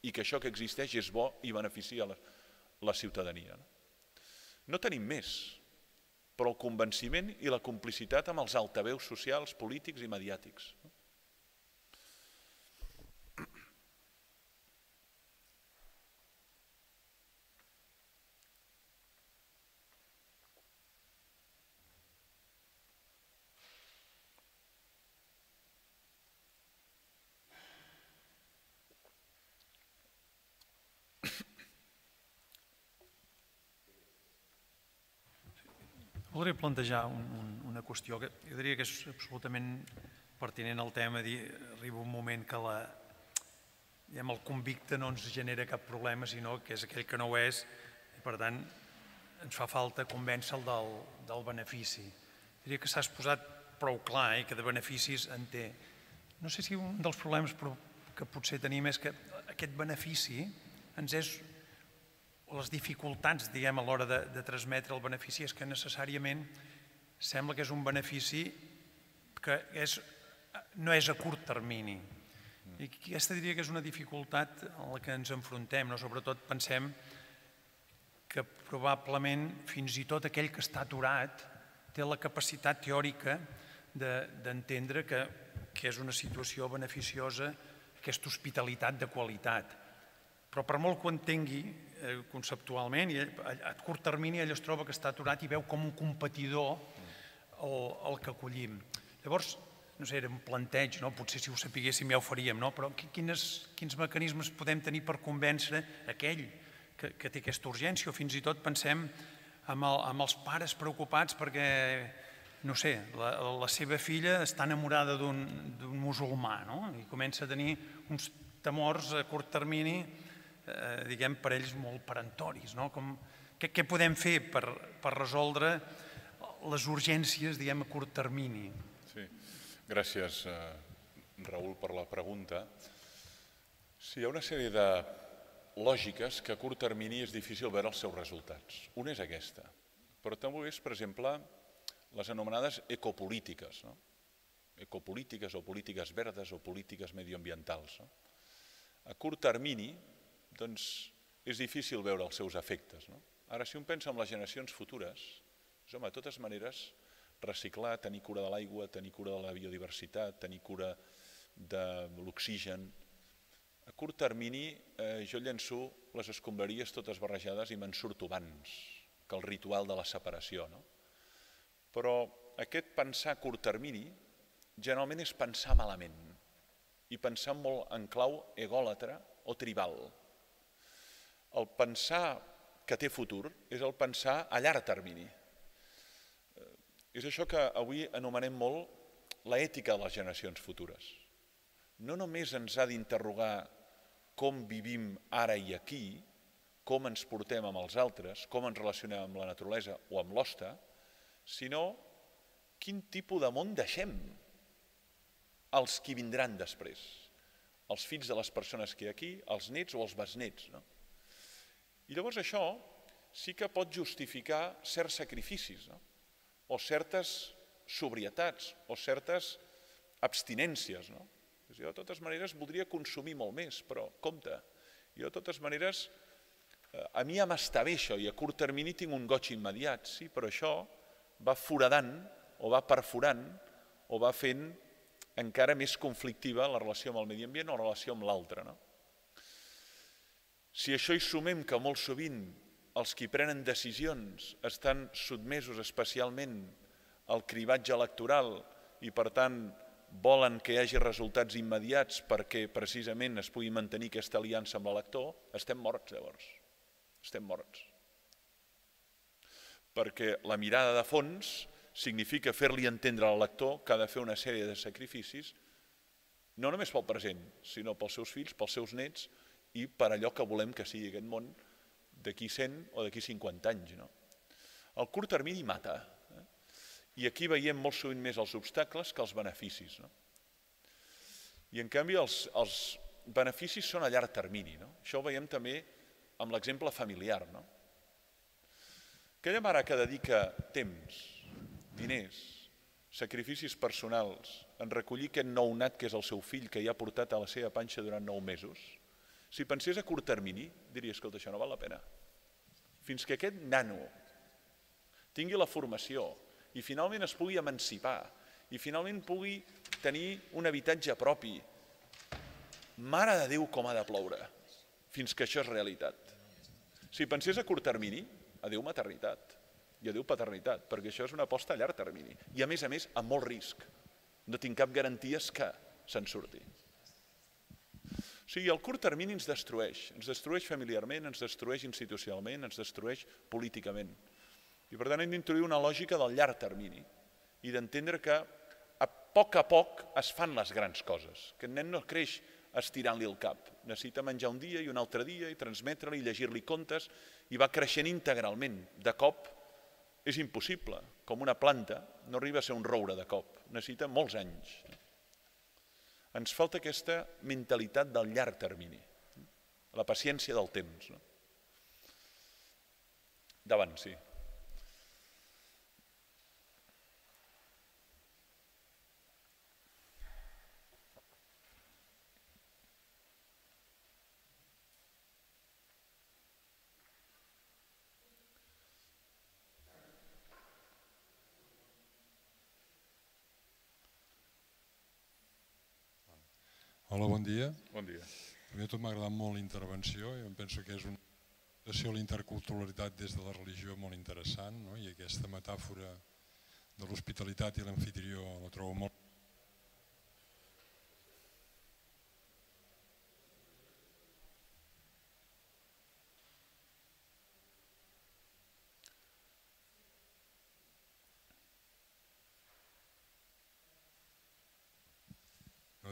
i que això que existeix és bo i beneficia la ciutadania. No tenim més, però el convenciment i la complicitat amb els altaveus socials, polítics i mediàtics. Voldria plantejar una qüestió que jo diria que és absolutament pertinent al tema. Arriba un moment que el convicte no ens genera cap problema, sinó que és aquell que no ho és, i per tant ens fa falta convèncer-lo del benefici. Diria que s'ha exposat prou clar i que de beneficis en té. No sé si un dels problemes que potser tenim és que aquest benefici ens és les dificultats, diguem, a l'hora de transmetre el benefici és que necessàriament sembla que és un benefici que no és a curt termini. I aquesta diria que és una dificultat a la que ens enfrontem. Sobretot pensem que probablement fins i tot aquell que està aturat té la capacitat teòrica d'entendre que és una situació beneficiosa aquesta hospitalitat de qualitat. Però per molt que ho entengui conceptualment, a curt termini ell es troba que està aturat i veu com un competidor el que acollim. Llavors, no sé, era un planteig, potser si ho sapiguéssim ja ho faríem, però quins mecanismes podem tenir per convèncer aquell que té aquesta urgència? O fins i tot pensem amb els pares preocupats perquè, no sé, la seva filla està enamorada d'un musulmà i comença a tenir uns temors a curt termini, diguem, per ells molt perentoris. Què podem fer per resoldre les urgències, diguem, a curt termini? Sí, gràcies, Raül, per la pregunta. Sí, hi ha una sèrie de lògiques que a curt termini és difícil veure els seus resultats. Una és aquesta, però també és, per exemple, les anomenades ecopolítiques. Ecopolítiques o polítiques verdes o polítiques medioambientals. A curt termini, doncs, és difícil veure els seus efectes. Ara, si un pensa en les generacions futures, de totes maneres, reciclar, tenir cura de l'aigua, tenir cura de la biodiversitat, tenir cura de l'oxigen. A curt termini, jo llenço les escombraries totes barrejades i me'n surto abans que el ritual de la separació. Però aquest pensar a curt termini generalment és pensar malament i pensar molt en clau egòlatra o tribal. El pensar que té futur és el pensar a llarg termini. És això que avui anomenem molt l'ètica de les generacions futures. No només ens ha d'interrogar com vivim ara i aquí, com ens portem amb els altres, com ens relacionem amb la naturalesa o amb l'hoste, sinó quin tipus de món deixem als qui vindran després, els fills de les persones que hi ha aquí, els nets o els besnets. I llavors això sí que pot justificar certs sacrificis, o certes sobrietats, o certes abstinències. Jo de totes maneres voldria consumir molt més, però compte, jo de totes maneres, a mi ja m'està bé això i a curt termini tinc un goig immediat, sí, però això va foradant o va perforant o va fent encara més conflictiva la relació amb el medi ambient o la relació amb l'altre. Si això hi sumem que molt sovint els qui prenen decisions estan sotmesos especialment al cribatge electoral i per tant volen que hi hagi resultats immediats perquè precisament es pugui mantenir aquesta aliança amb l'elector, estem morts llavors. Estem morts. Perquè la mirada de fons significa fer-li entendre a l'elector que ha de fer una sèrie de sacrificis, no només pel present, sinó pels seus fills, pels seus nets i per allò que volem que sigui aquest món d'aquí 100 o d'aquí 50 anys. El curt termini mata. I aquí veiem molt sovint més els obstacles que els beneficis. I en canvi els beneficis són a llarg termini. Això ho veiem també amb l'exemple familiar. Aquella mare que dedica temps, diners, sacrificis personals en recollir aquest nounat que és el seu fill que ja ha portat a la seva panxa durant 9 mesos, si pensés a curt termini, diria, escolta, això no val la pena. Fins que aquest nano tingui la formació i finalment es pugui emancipar i finalment pugui tenir un habitatge propi, mare de Déu com ha de ploure, fins que això és realitat. Si pensés a curt termini, adéu maternitat i adéu paternitat, perquè això és una aposta a llarg termini i a més, amb molt risc. No tinc cap garanties que se'n surti. O sigui, el curt termini ens destrueix familiarment, ens destrueix institucionalment, ens destrueix políticament. I per tant hem d'introduir una lògica del llarg termini i d'entendre que a poc es fan les grans coses, que el nen no creix estirant-li el cap, necessita menjar un dia i un altre dia i transmetre-li, llegir-li contes i va creixent integralment. De cop és impossible, com una planta no arriba a ser un roure de cop, necessita molts anys. Ens falta aquesta mentalitat del llarg termini, la paciència del temps. Davant, sí. Hola, bon dia. Bon dia. A mi tot m'ha agradat molt la intervenció i em penso que és una presentació de la interculturalitat des de la religió molt interessant, i aquesta metàfora de l'hospitalitat i l'amfitrió la trobo molt...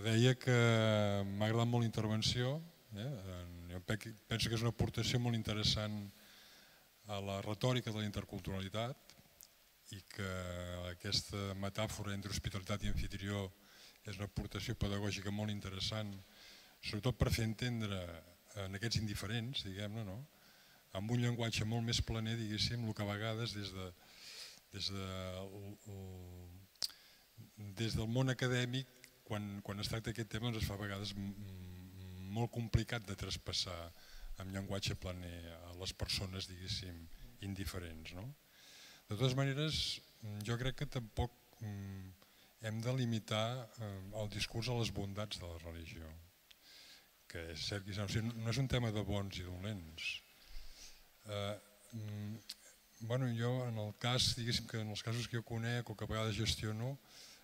Deia que m'ha agradat molt la intervenció, jo penso que és una aportació molt interessant a la retòrica de la interculturalitat i que aquesta metàfora entre hospitalitat i amfitrió és una aportació pedagògica molt interessant, sobretot per fer entendre en aquests indiferents, diguem-ne, amb un llenguatge molt més planer, diguéssim, el que a vegades des del món acadèmic quan es tracta d'aquest tema es fa a vegades molt complicat de traspassar amb llenguatge planer a les persones, diguéssim, indiferents. De totes maneres, jo crec que tampoc hem de limitar el discurs a les bondats de la religió, que és cert que no és un tema de bons i dolents. Jo, en el cas, diguéssim que en els casos que jo conec o que a vegades gestiono,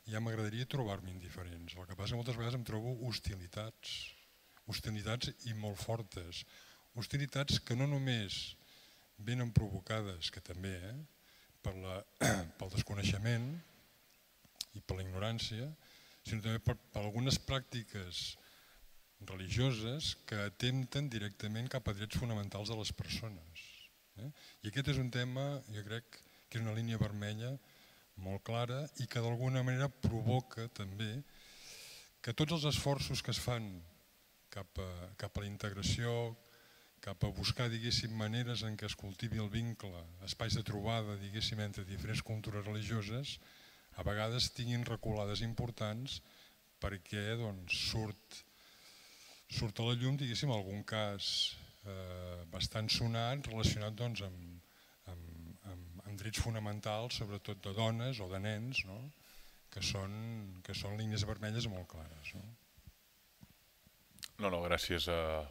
ja m'agradaria trobar-me indiferents. El que passa moltes vegades em trobo hostilitats i molt fortes. Hostilitats que no només venen provocades, que també, pel desconeixement i per la ignorància, sinó també per algunes pràctiques religioses que atempten directament cap a drets fonamentals de les persones. I aquest és un tema, jo crec, que és una línia vermella molt clara i que d'alguna manera provoca també que tots els esforços que es fan cap a la integració, cap a buscar, diguéssim, maneres en què es cultivi el vincle, espais de trobada, diguéssim, entre diferents cultures religioses, a vegades tinguin reculades importants perquè surt a la llum, diguéssim, algun cas bastant sonat relacionat amb drets fonamentals, sobretot de dones o de nens, que són línies vermelles molt clares. No, gràcies a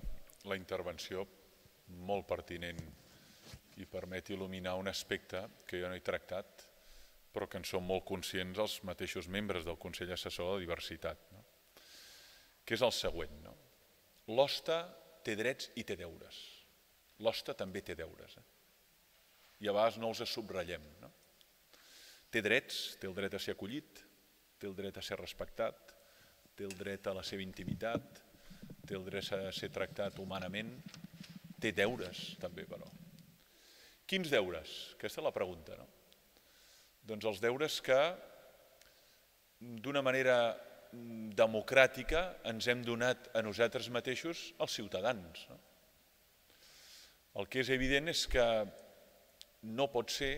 la intervenció molt pertinent i permet il·luminar un aspecte que jo no he tractat però que en són molt conscients els mateixos membres del Consell Assessor de Diversitat, que és el següent. L'hoste té drets i té deures. L'hoste també té deures. I a vegades no els subratllem. Té drets, té el dret a ser acollit, té el dret a ser respectat, té el dret a la seva intimitat, té el dret a ser tractat humanament, té deures també, però. Quins deures? Aquesta és la pregunta, no? Doncs els deures que d'una manera democràtica ens hem donat a nosaltres mateixos els ciutadans. El que és evident és que no pot ser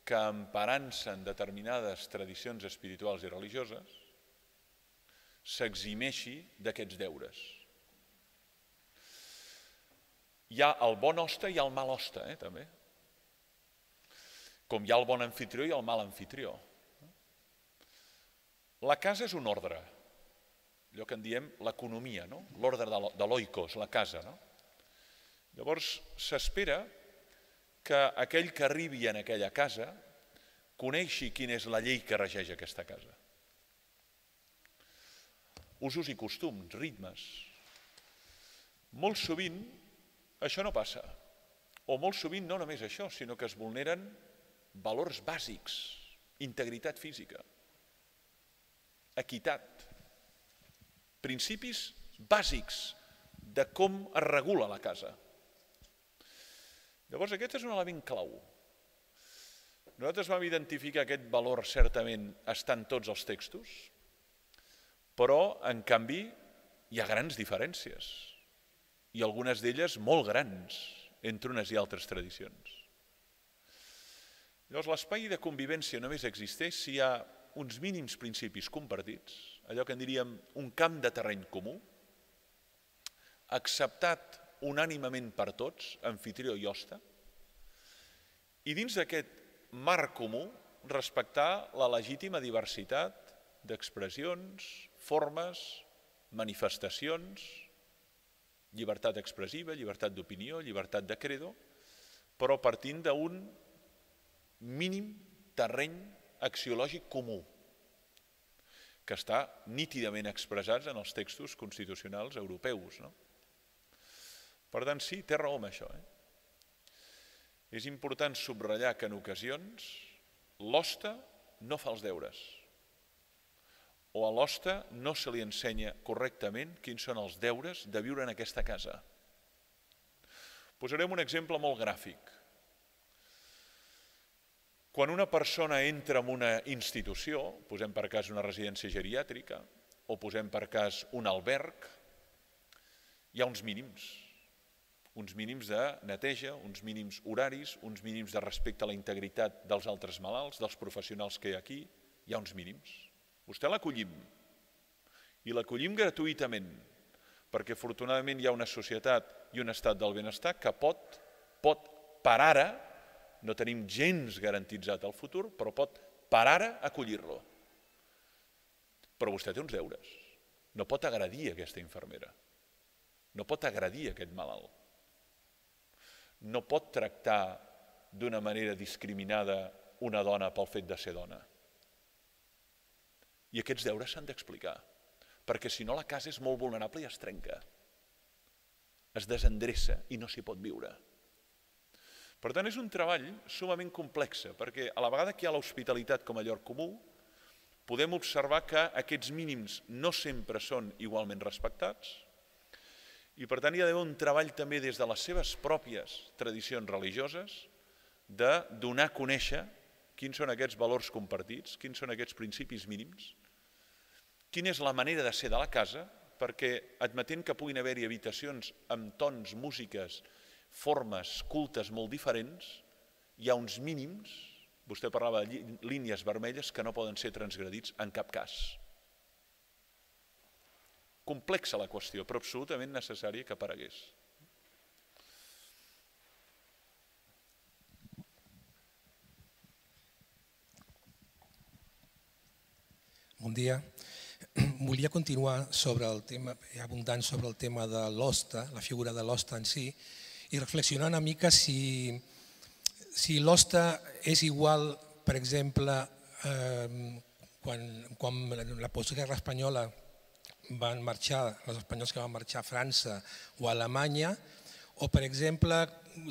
que emparant-se en determinades tradicions espirituals i religioses s'eximeixi d'aquests deures. Hi ha el bon hoste i el mal hoste, també. Com hi ha el bon anfitrió i el mal anfitrió. La casa és un ordre, allò que en diem l'economia, l'ordre de l'oikos, la casa. Llavors s'espera que aquell que arribi en aquella casa coneixi quina és la llei que regeix aquesta casa. Usos i costums, ritmes. Molt sovint això no passa, o molt sovint no només això, sinó que es vulneren valors bàsics, integritat física, equitat, principis bàsics de com es regula la casa. Llavors aquest és un element clau. Nosaltres vam identificar aquest valor certament està en tots els textos, però en canvi hi ha grans diferències i algunes d'elles molt grans entre unes i altres tradicions. Llavors l'espai de convivència només existeix si hi ha uns mínims principis compartits, allò que en diríem un camp de terreny comú, acceptat unànimement per tots, anfitrió i hoste, i dins d'aquest marc comú respectar la legítima diversitat d'expressions, formes, manifestacions, llibertat expressiva, llibertat d'opinió, llibertat de credo, però partint d'un mínim terreny axiològic comú, que està nítidament expressat en els textos constitucionals europeus. Per tant, sí, té raó amb això. És important subratllar que en ocasions l'hoste no fa els deures, o a l'hoste no se li ensenya correctament quins són els deures de viure en aquesta casa. Posarem un exemple molt gràfic. Quan una persona entra en una institució, posem per cas una residència geriàtrica, o posem per cas un alberg, hi ha uns mínims de neteja, uns mínims horaris, uns mínims de respecte a la integritat dels altres malalts, dels professionals que hi ha aquí, hi ha uns mínims. Vostè l'acollim, i l'acollim gratuïtament, perquè afortunadament hi ha una societat i un estat del benestar que pot, per ara, no tenim gens garantitzat el futur, però pot per ara acollir-lo. Però vostè té uns deures. No pot agredir aquesta infermera. No pot agredir aquest malalt. No pot tractar d'una manera discriminada una dona pel fet de ser dona. I aquests deures s'han d'explicar, perquè si no la casa és molt vulnerable i es trenca, es desendreça i no s'hi pot viure. Per tant, és un treball sumament complex, perquè a la vegada que hi ha l'hospitalitat com a lloc comú, podem observar que aquests mínims no sempre són igualment respectats i per tant hi ha d'haver un treball també des de les seves pròpies tradicions religioses de donar a conèixer quins són aquests valors compartits, quins són aquests principis mínims, quina és la manera de ser de la casa, perquè admetent que puguin haver-hi habitacions amb tons, músiques, formes, cultes molt diferents, hi ha uns mínims, vostè parlava de línies vermelles que no poden ser transgredits en cap cas. Complexa la qüestió, però absolutament necessària que aparegués. Bon dia. Volia continuar sobre el tema, abundant sobre el tema de l'hoste, la figura de l'hoste en si, i reflexionar una mica si l'hoste és igual, per exemple, quan la postguerra espanyola van marxar, els espanyols que van marxar a França o a Alemanya, o per exemple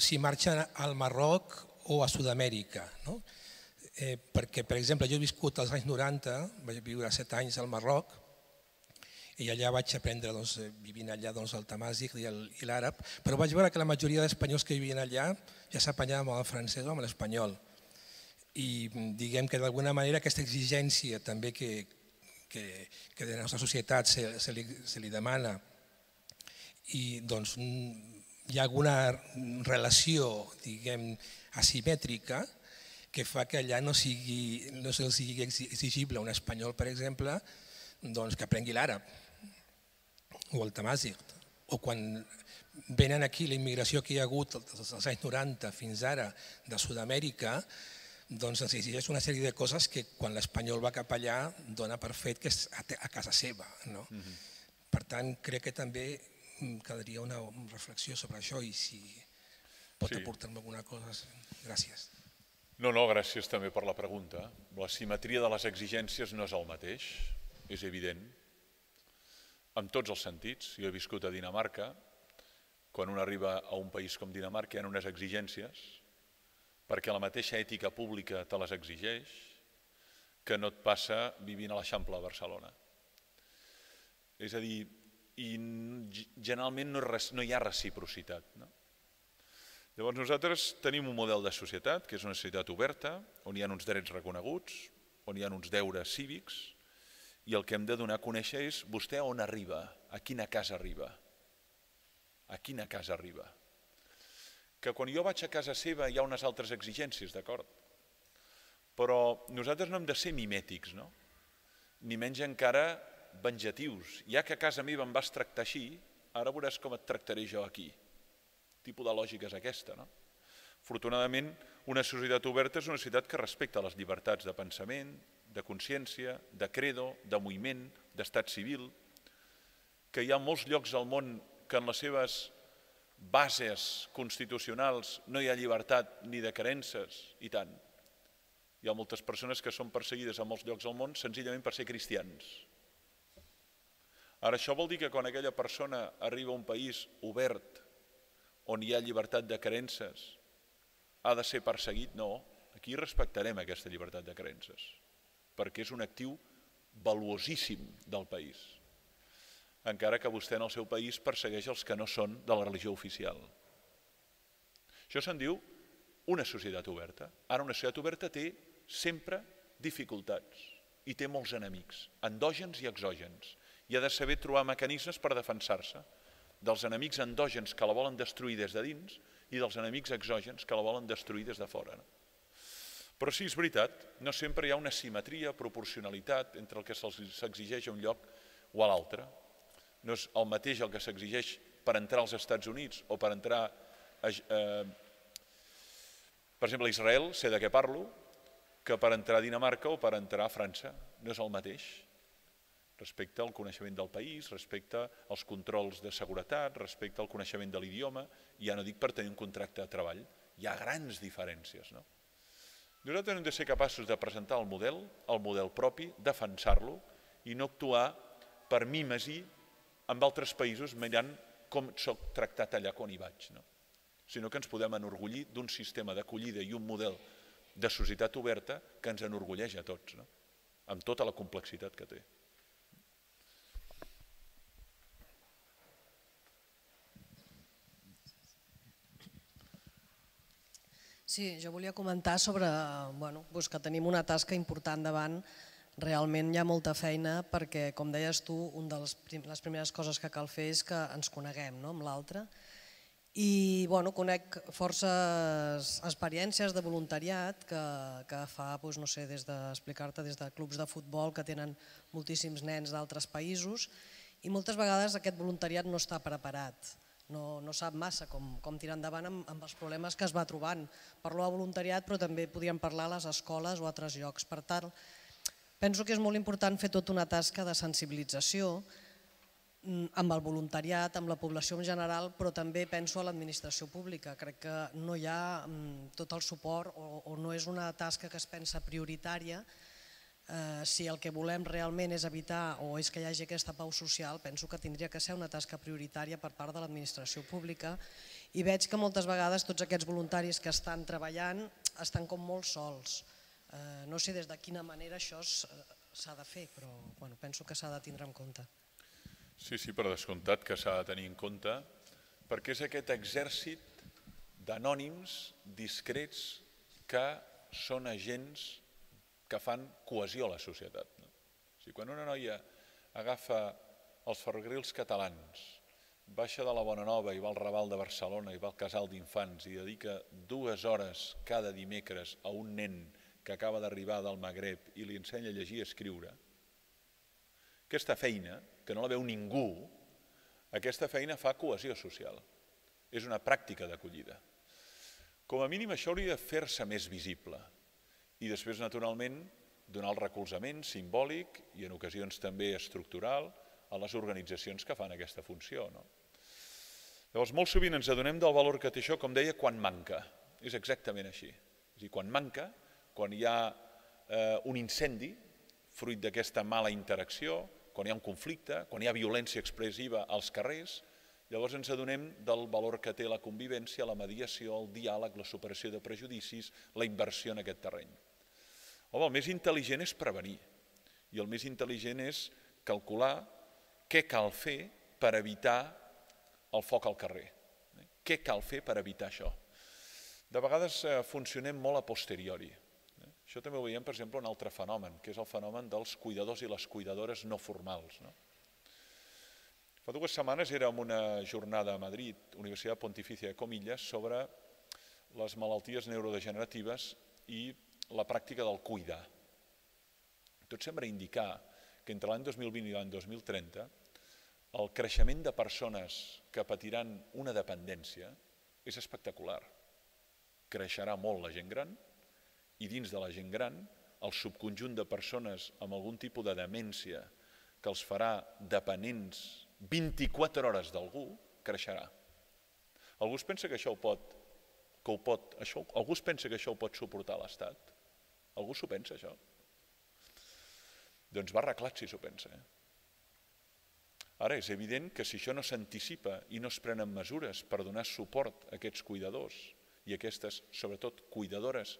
si marxen al Marroc o a Sud-amèrica. Perquè, per exemple, jo he viscut als anys 90, vaig viure 7 anys al Marroc, i allà vaig aprendre, vivint allà, el tamàsic i l'àrab, però vaig veure que la majoria d'espanyols que vivien allà ja s'apanyaven amb el francès o amb l'espanyol. I diguem que d'alguna manera aquesta exigència també que de la nostra societat se li demana, i doncs hi ha alguna relació, diguem, asimètrica que fa que allà no sigui exigible a un espanyol, per exemple, que aprengui l'àrab o el tamàsic. O quan venen aquí la immigració que hi ha hagut als anys 90 fins ara de Sud-amèrica, doncs ens exigeix una sèrie de coses que quan l'espanyol va cap allà dona per fet que és a casa seva. Per tant, crec que també caldria una reflexió sobre això i si pot aportar-me alguna cosa. Gràcies. No, gràcies també per la pregunta. La simetria de les exigències no és el mateix, és evident, en tots els sentits. Jo he viscut a Dinamarca. Quan un arriba a un país com Dinamarca hi ha unes exigències perquè la mateixa ètica pública te les exigeix que no et passa vivint a l'Eixample de Barcelona. És a dir, generalment no hi ha reciprocitat. Llavors nosaltres tenim un model de societat que és una societat oberta, on hi ha uns drets reconeguts, on hi ha uns deures cívics, i el que hem de donar a conèixer és vostè on arriba, a quina casa arriba. A quina casa arriba. Que quan jo vaig a casa seva hi ha unes altres exigències, d'acord? Però nosaltres no hem de ser mimètics, no? Ni menys encara vengatius. Ja que a casa meva em vas tractar així, ara veuràs com et tractaré jo aquí. Quin tipus de lògica és aquesta, no? Afortunadament, una societat oberta és una societat que respecta les llibertats de pensament, de consciència, de credo, de moviment, d'estat civil, que hi ha molts llocs al món que en les seves bases constitucionals no hi ha llibertat ni de creences, i tant. Hi ha moltes persones que són perseguides a molts llocs del món senzillament per ser cristians. Ara, això vol dir que quan aquella persona arriba a un país obert, on hi ha llibertat de creences, ha de ser perseguit? No, aquí respectarem aquesta llibertat de creences, perquè és un actiu valuosíssim del país, encara que vostè en el seu país persegueix els que no són de la religió oficial. Això se'n diu una societat oberta. Ara, una societat oberta té sempre dificultats i té molts enemics, endògens i exògens, i ha de saber trobar mecanismes per defensar-se dels enemics endògens que la volen destruir des de dins i dels enemics exògens que la volen destruir des de fora. Però sí, és veritat, no sempre hi ha una simetria, proporcionalitat entre el que s'exigeix a un lloc o a l'altre. No és el mateix el que s'exigeix per entrar als Estats Units o per entrar, per exemple, a Israel, sé de què parlo, que per entrar a Dinamarca o per entrar a França. No és el mateix. Respecte al coneixement del país, respecte als controls de seguretat, respecte al coneixement de l'idioma, ja no dic per tenir un contracte de treball. Hi ha grans diferències, no? Nosaltres hem de ser capaços de presentar el model propi, defensar-lo i no actuar per mímesi amb altres països mirant com soc tractat allà quan hi vaig, sinó que ens podem enorgullir d'un sistema d'acollida i un model de societat oberta que ens enorgulleix a tots, amb tota la complexitat que té. Sí, jo volia comentar sobre que tenim una tasca important davant. Realment hi ha molta feina perquè, com deies tu, una de les primeres coses que cal fer és que ens coneguem amb l'altre. I conec forces experiències de voluntariat que fa, no sé, des d'explicar-te des de clubs de futbol que tenen moltíssims nens d'altres països i moltes vegades aquest voluntariat no està preparat. No sap massa com tirar endavant amb els problemes que es va trobant. Parlo de voluntariat, però també podríem parlar a les escoles o a altres llocs. Per tant, penso que és molt important fer tota una tasca de sensibilització amb el voluntariat, amb la població en general, però també penso a l'administració pública. Crec que no hi ha tot el suport o no és una tasca que es pensa prioritària Si el que volem realment és evitar o és que hi hagi aquesta pau social, penso que tindria que ser una tasca prioritària per part de l'administració pública, i veig que moltes vegades tots aquests voluntaris que estan treballant estan com molt sols. No sé des de quina manera això s'ha de fer, però penso que s'ha de tindre en compte. Sí, per descomptat que s'ha de tenir en compte, perquè és aquest exèrcit d'anònims discrets que són agents que fan cohesió a la societat. Quan una noia agafa els ferrocarrils catalans, baixa de la Bonanova i va al Raval de Barcelona i va al casal d'infants i dedica 2 hores cada dimecres a un nen que acaba d'arribar del Magreb i li ensenya a llegir i escriure, aquesta feina, que no la veu ningú, aquesta feina fa cohesió social. És una pràctica d'acollida. Com a mínim això hauria de fer-se més visible i després, naturalment, donar el recolzament simbòlic i en ocasions també estructural a les organitzacions que fan aquesta funció. Llavors, molt sovint ens adonem del valor que té això, com deia, quan manca. És exactament així. És a dir, quan manca, quan hi ha un incendi, fruit d'aquesta mala interacció, quan hi ha un conflicte, quan hi ha violència expressiva als carrers, llavors ens adonem del valor que té la convivència, la mediació, el diàleg, la superació de prejudicis, la inversió en aquest terreny. El més intel·ligent és prevenir i el més intel·ligent és calcular què cal fer per evitar el foc al carrer. Què cal fer per evitar això? De vegades funcionem molt a posteriori. Això també ho veiem, per exemple, un altre fenomen, que és el fenomen dels cuidadors i les cuidadores no formals. Fa 2 setmanes era una jornada a Madrid, Universitat Pontificia de Comillas, sobre les malalties neurodegeneratives i la pràctica del cuidar. Tot sembla indicar que entre l'any 2020 i l'any 2030 el creixement de persones que patiran una dependència és espectacular. Creixerà molt la gent gran i dins de la gent gran el subconjunt de persones amb algun tipus de demència que els farà dependents 24 hores d'algú creixerà. Algú es pensa que això ho pot suportar l'Estat? Algú s'ho pensa, això? Doncs va arreglat si s'ho pensa. Ara, és evident que si això no s'anticipa i no es prenen mesures per donar suport a aquests cuidadors i aquestes, sobretot, cuidadores,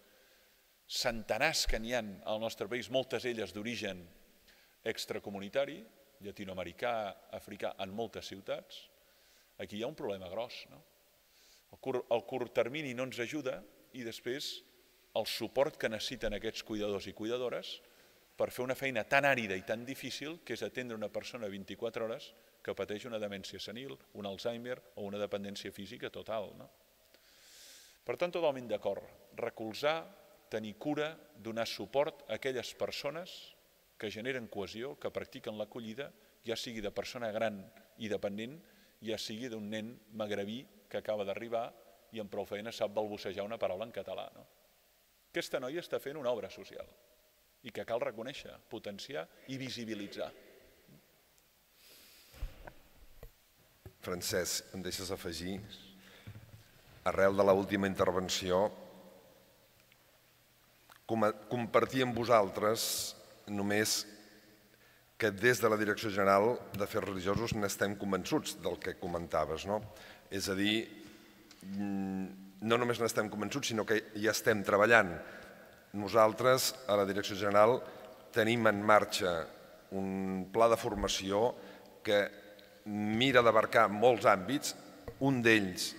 centenars que n'hi ha al nostre país, moltes elles d'origen extracomunitari, llatinoamericà, africà, en moltes ciutats, aquí hi ha un problema gros. El curt termini no ens ajuda i després el suport que necessiten aquests cuidadors i cuidadores per fer una feina tan àrida i tan difícil que és atendre una persona 24 hores que pateix una demència senil, un Alzheimer o una dependència física total. Per tant, totalment d'acord. Recolzar, tenir cura, donar suport a aquelles persones que generen cohesió, que practiquen l'acollida, ja sigui de persona gran i dependent, ja sigui d'un nen magrebí que acaba d'arribar i amb prou feina sap balbucejar una paraula en català. Aquesta noia està fent una obra social i que cal reconèixer, potenciar i visibilitzar. Francesc, em deixes afegir, arrel de l'última intervenció, compartir amb vosaltres només que des de la Direcció General d'Afers Religiosos n'estem convençuts del que comentaves. És a dir, no només n'estem convençuts, sinó que hi estem treballant. Nosaltres, a la Direcció General, tenim en marxa un pla de formació que mira d'abarcar molts àmbits. Un d'ells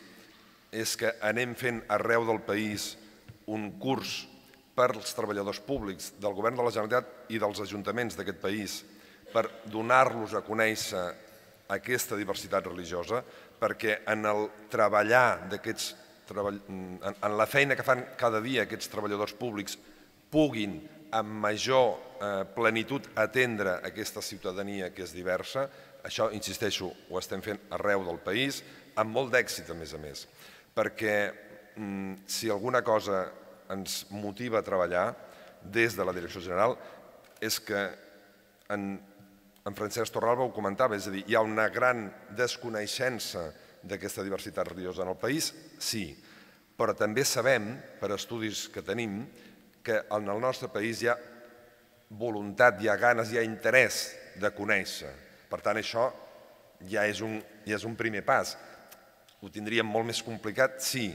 és que anem fent arreu del país un curs per als treballadors públics del Govern de la Generalitat i dels ajuntaments d'aquest país per donar-los a conèixer aquesta diversitat religiosa, perquè en el treballar en la feina que fan cada dia aquests treballadors públics puguin amb major plenitud atendre aquesta ciutadania que és diversa. Això, insisteixo, ho estem fent arreu del país, amb molt d'èxit a més, perquè si alguna cosa ens motiva a treballar des de la Direcció General és que en Francesc Torralba ho comentava, és a dir, hi ha una gran desconeixença d'aquesta diversitat religiosa en el país, sí, però també sabem, per estudis que tenim, que en el nostre país hi ha voluntat, hi ha ganes, hi ha interès de conèixer. Per tant, això ja és un primer pas. Ho tindríem molt més complicat si,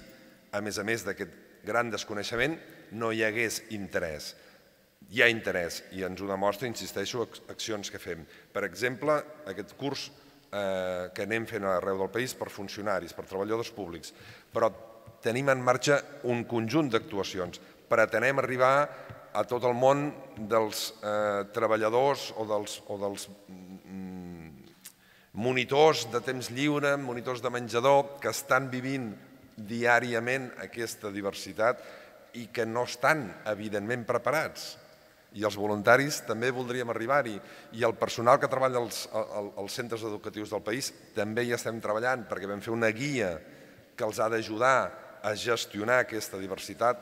a més d'aquest gran desconeixement, no hi hagués interès. Hi ha interès i ens ho demostra, insisteixo, accions que fem. Per exemple, aquest curs que anem fent arreu del país per funcionaris, per treballadors públics, però tenim en marxa un conjunt d'actuacions. Pretenem arribar a tot el món dels treballadors o dels monitors de temps lliure, monitors de menjador, que estan vivint diàriament aquesta diversitat i que no estan, evidentment, preparats. I els voluntaris també voldríem arribar-hi. I el personal que treballa als centres educatius del país també hi estem treballant, perquè vam fer una guia que els ha d'ajudar a gestionar aquesta diversitat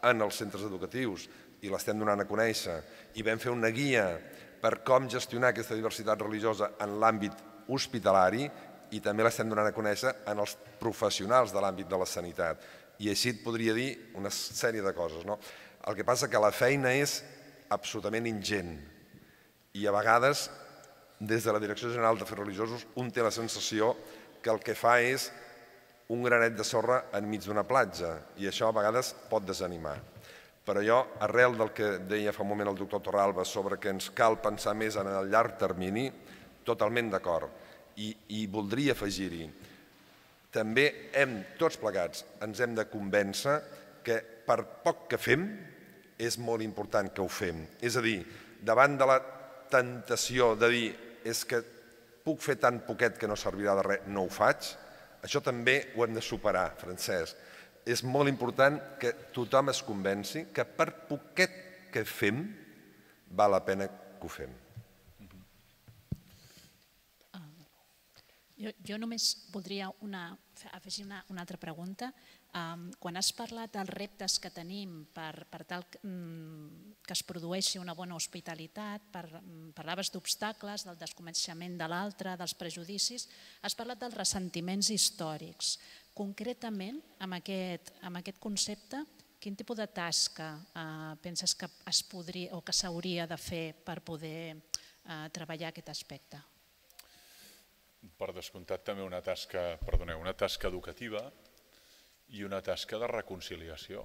en els centres educatius i l'estem donant a conèixer. I vam fer una guia per com gestionar aquesta diversitat religiosa en l'àmbit hospitalari i també l'estem donant a conèixer en els professionals de l'àmbit de la sanitat. I així et podria dir una sèrie de coses. El que passa que la feina és absolutament ingent i a vegades, des de la Direcció General d'Afers Religiosos, un té la sensació que el que fa és un granet de sorra enmig d'una platja i això a vegades pot desanimar. Però jo, arrel del que deia fa un moment el doctor Torralba sobre que ens cal pensar més en el llarg termini, totalment d'acord. I voldria afegir-hi, també tots plegats ens hem de convèncer que per poc que fem és molt important que ho fem. És a dir, davant de la tentació de dir és que puc fer tan poquet que no servirà de res, no ho faig, això també ho hem de superar, Francesc. És molt important que tothom es convenci que per poquet que fem val la pena que ho fem. Jo només voldria afegir una altra pregunta. Quan has parlat dels reptes que tenim per tal que es produeixi una bona hospitalitat, parlaves d'obstacles, del desconeixement de l'altre, dels prejudicis, has parlat dels ressentiments històrics. Concretament, amb aquest concepte, quin tipus de tasca penses que es podria o que s'hauria de fer per poder treballar aquest aspecte? Per descomptat també una tasca educativa i una tasca de reconciliació,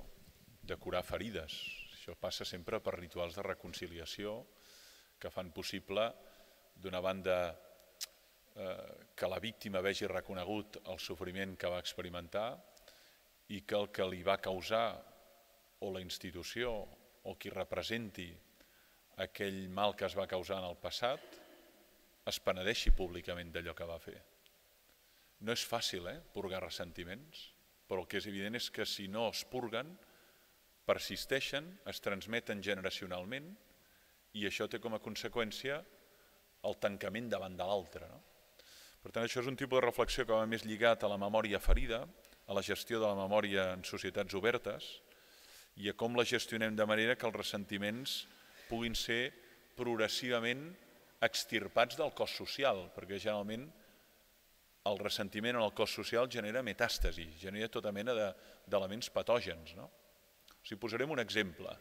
de curar ferides. Això passa sempre per rituals de reconciliació que fan possible, d'una banda, que la víctima vegi reconegut el sofriment que va experimentar i que el que li va causar o la institució o qui representi aquell mal que es va causar en el passat es penedeixi públicament d'allò que va fer. No és fàcil, purgar ressentiments, però el que és evident és que si no es purguen, persisteixen, es transmeten generacionalment i això té com a conseqüència el tancament davant de l'altre. Per tant, això és un tipus de reflexió que va més lligat a la memòria ferida, a la gestió de la memòria en societats obertes i a com la gestionem de manera que els ressentiments puguin ser progressivament extirpats del cos social, perquè generalment el ressentiment en el cos social genera metàstasi, genera tota mena d'elements patògens. Si posarem un exemple.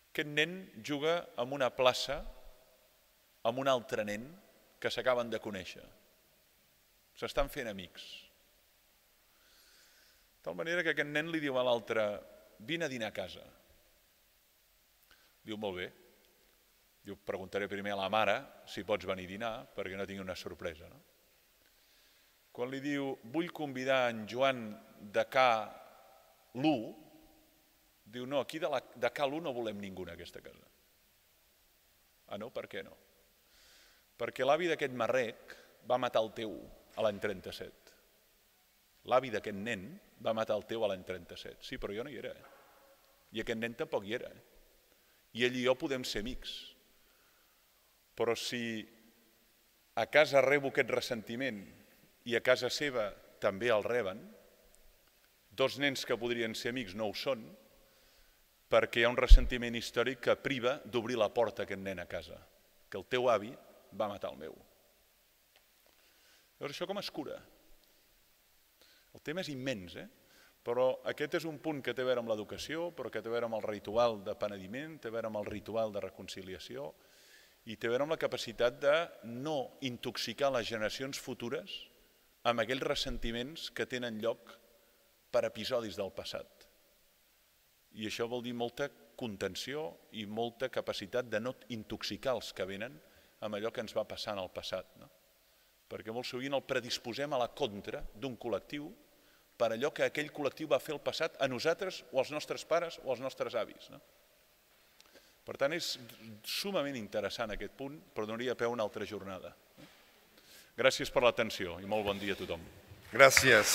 Aquest nen juga en una plaça amb un altre nen que s'acaben de conèixer. S'estan fent amics. De tal manera que aquest nen li diu a l'altre: vine a dinar a casa. Diu, molt bé. Jo preguntaré primer a la mare si pots venir a dinar perquè no tingui una sorpresa. Quan li diu, vull convidar en Joan de K1, diu, no, aquí de K1 no volem ningú en aquesta casa. Ah, no? Per què no? Perquè l'avi d'aquest marrec va matar el teu a l'any 37. L'avi d'aquest nen va matar el teu a l'any 37. Sí, però jo no hi era. I aquest nen tampoc hi era. I ell i jo podem ser amics. Però si a casa rebo aquest ressentiment i a casa seva també el reben, dos nens que podrien ser amics no ho són, perquè hi ha un ressentiment històric que priva d'obrir la porta a aquest nen a casa, que el teu avi va matar el meu. Llavors, això com es cura? El tema és immens, Però aquest és un punt que té a veure amb l'educació, però que té a veure amb el ritual de penediment, té a veure amb el ritual de reconciliació i té a veure amb la capacitat de no intoxicar les generacions futures amb aquells ressentiments que tenen lloc per episodis del passat. I això vol dir molta contenció i molta capacitat de no intoxicar els que venen amb allò que ens va passar en el passat. Perquè molt sovint el predisposem a la contra d'un col·lectiu per allò que aquell col·lectiu va fer el passat a nosaltres o als nostres pares o als nostres avis. Per tant, és sumament interessant aquest punt, però donaria peu a una altra jornada. Gràcies per l'atenció i molt bon dia a tothom. Gràcies.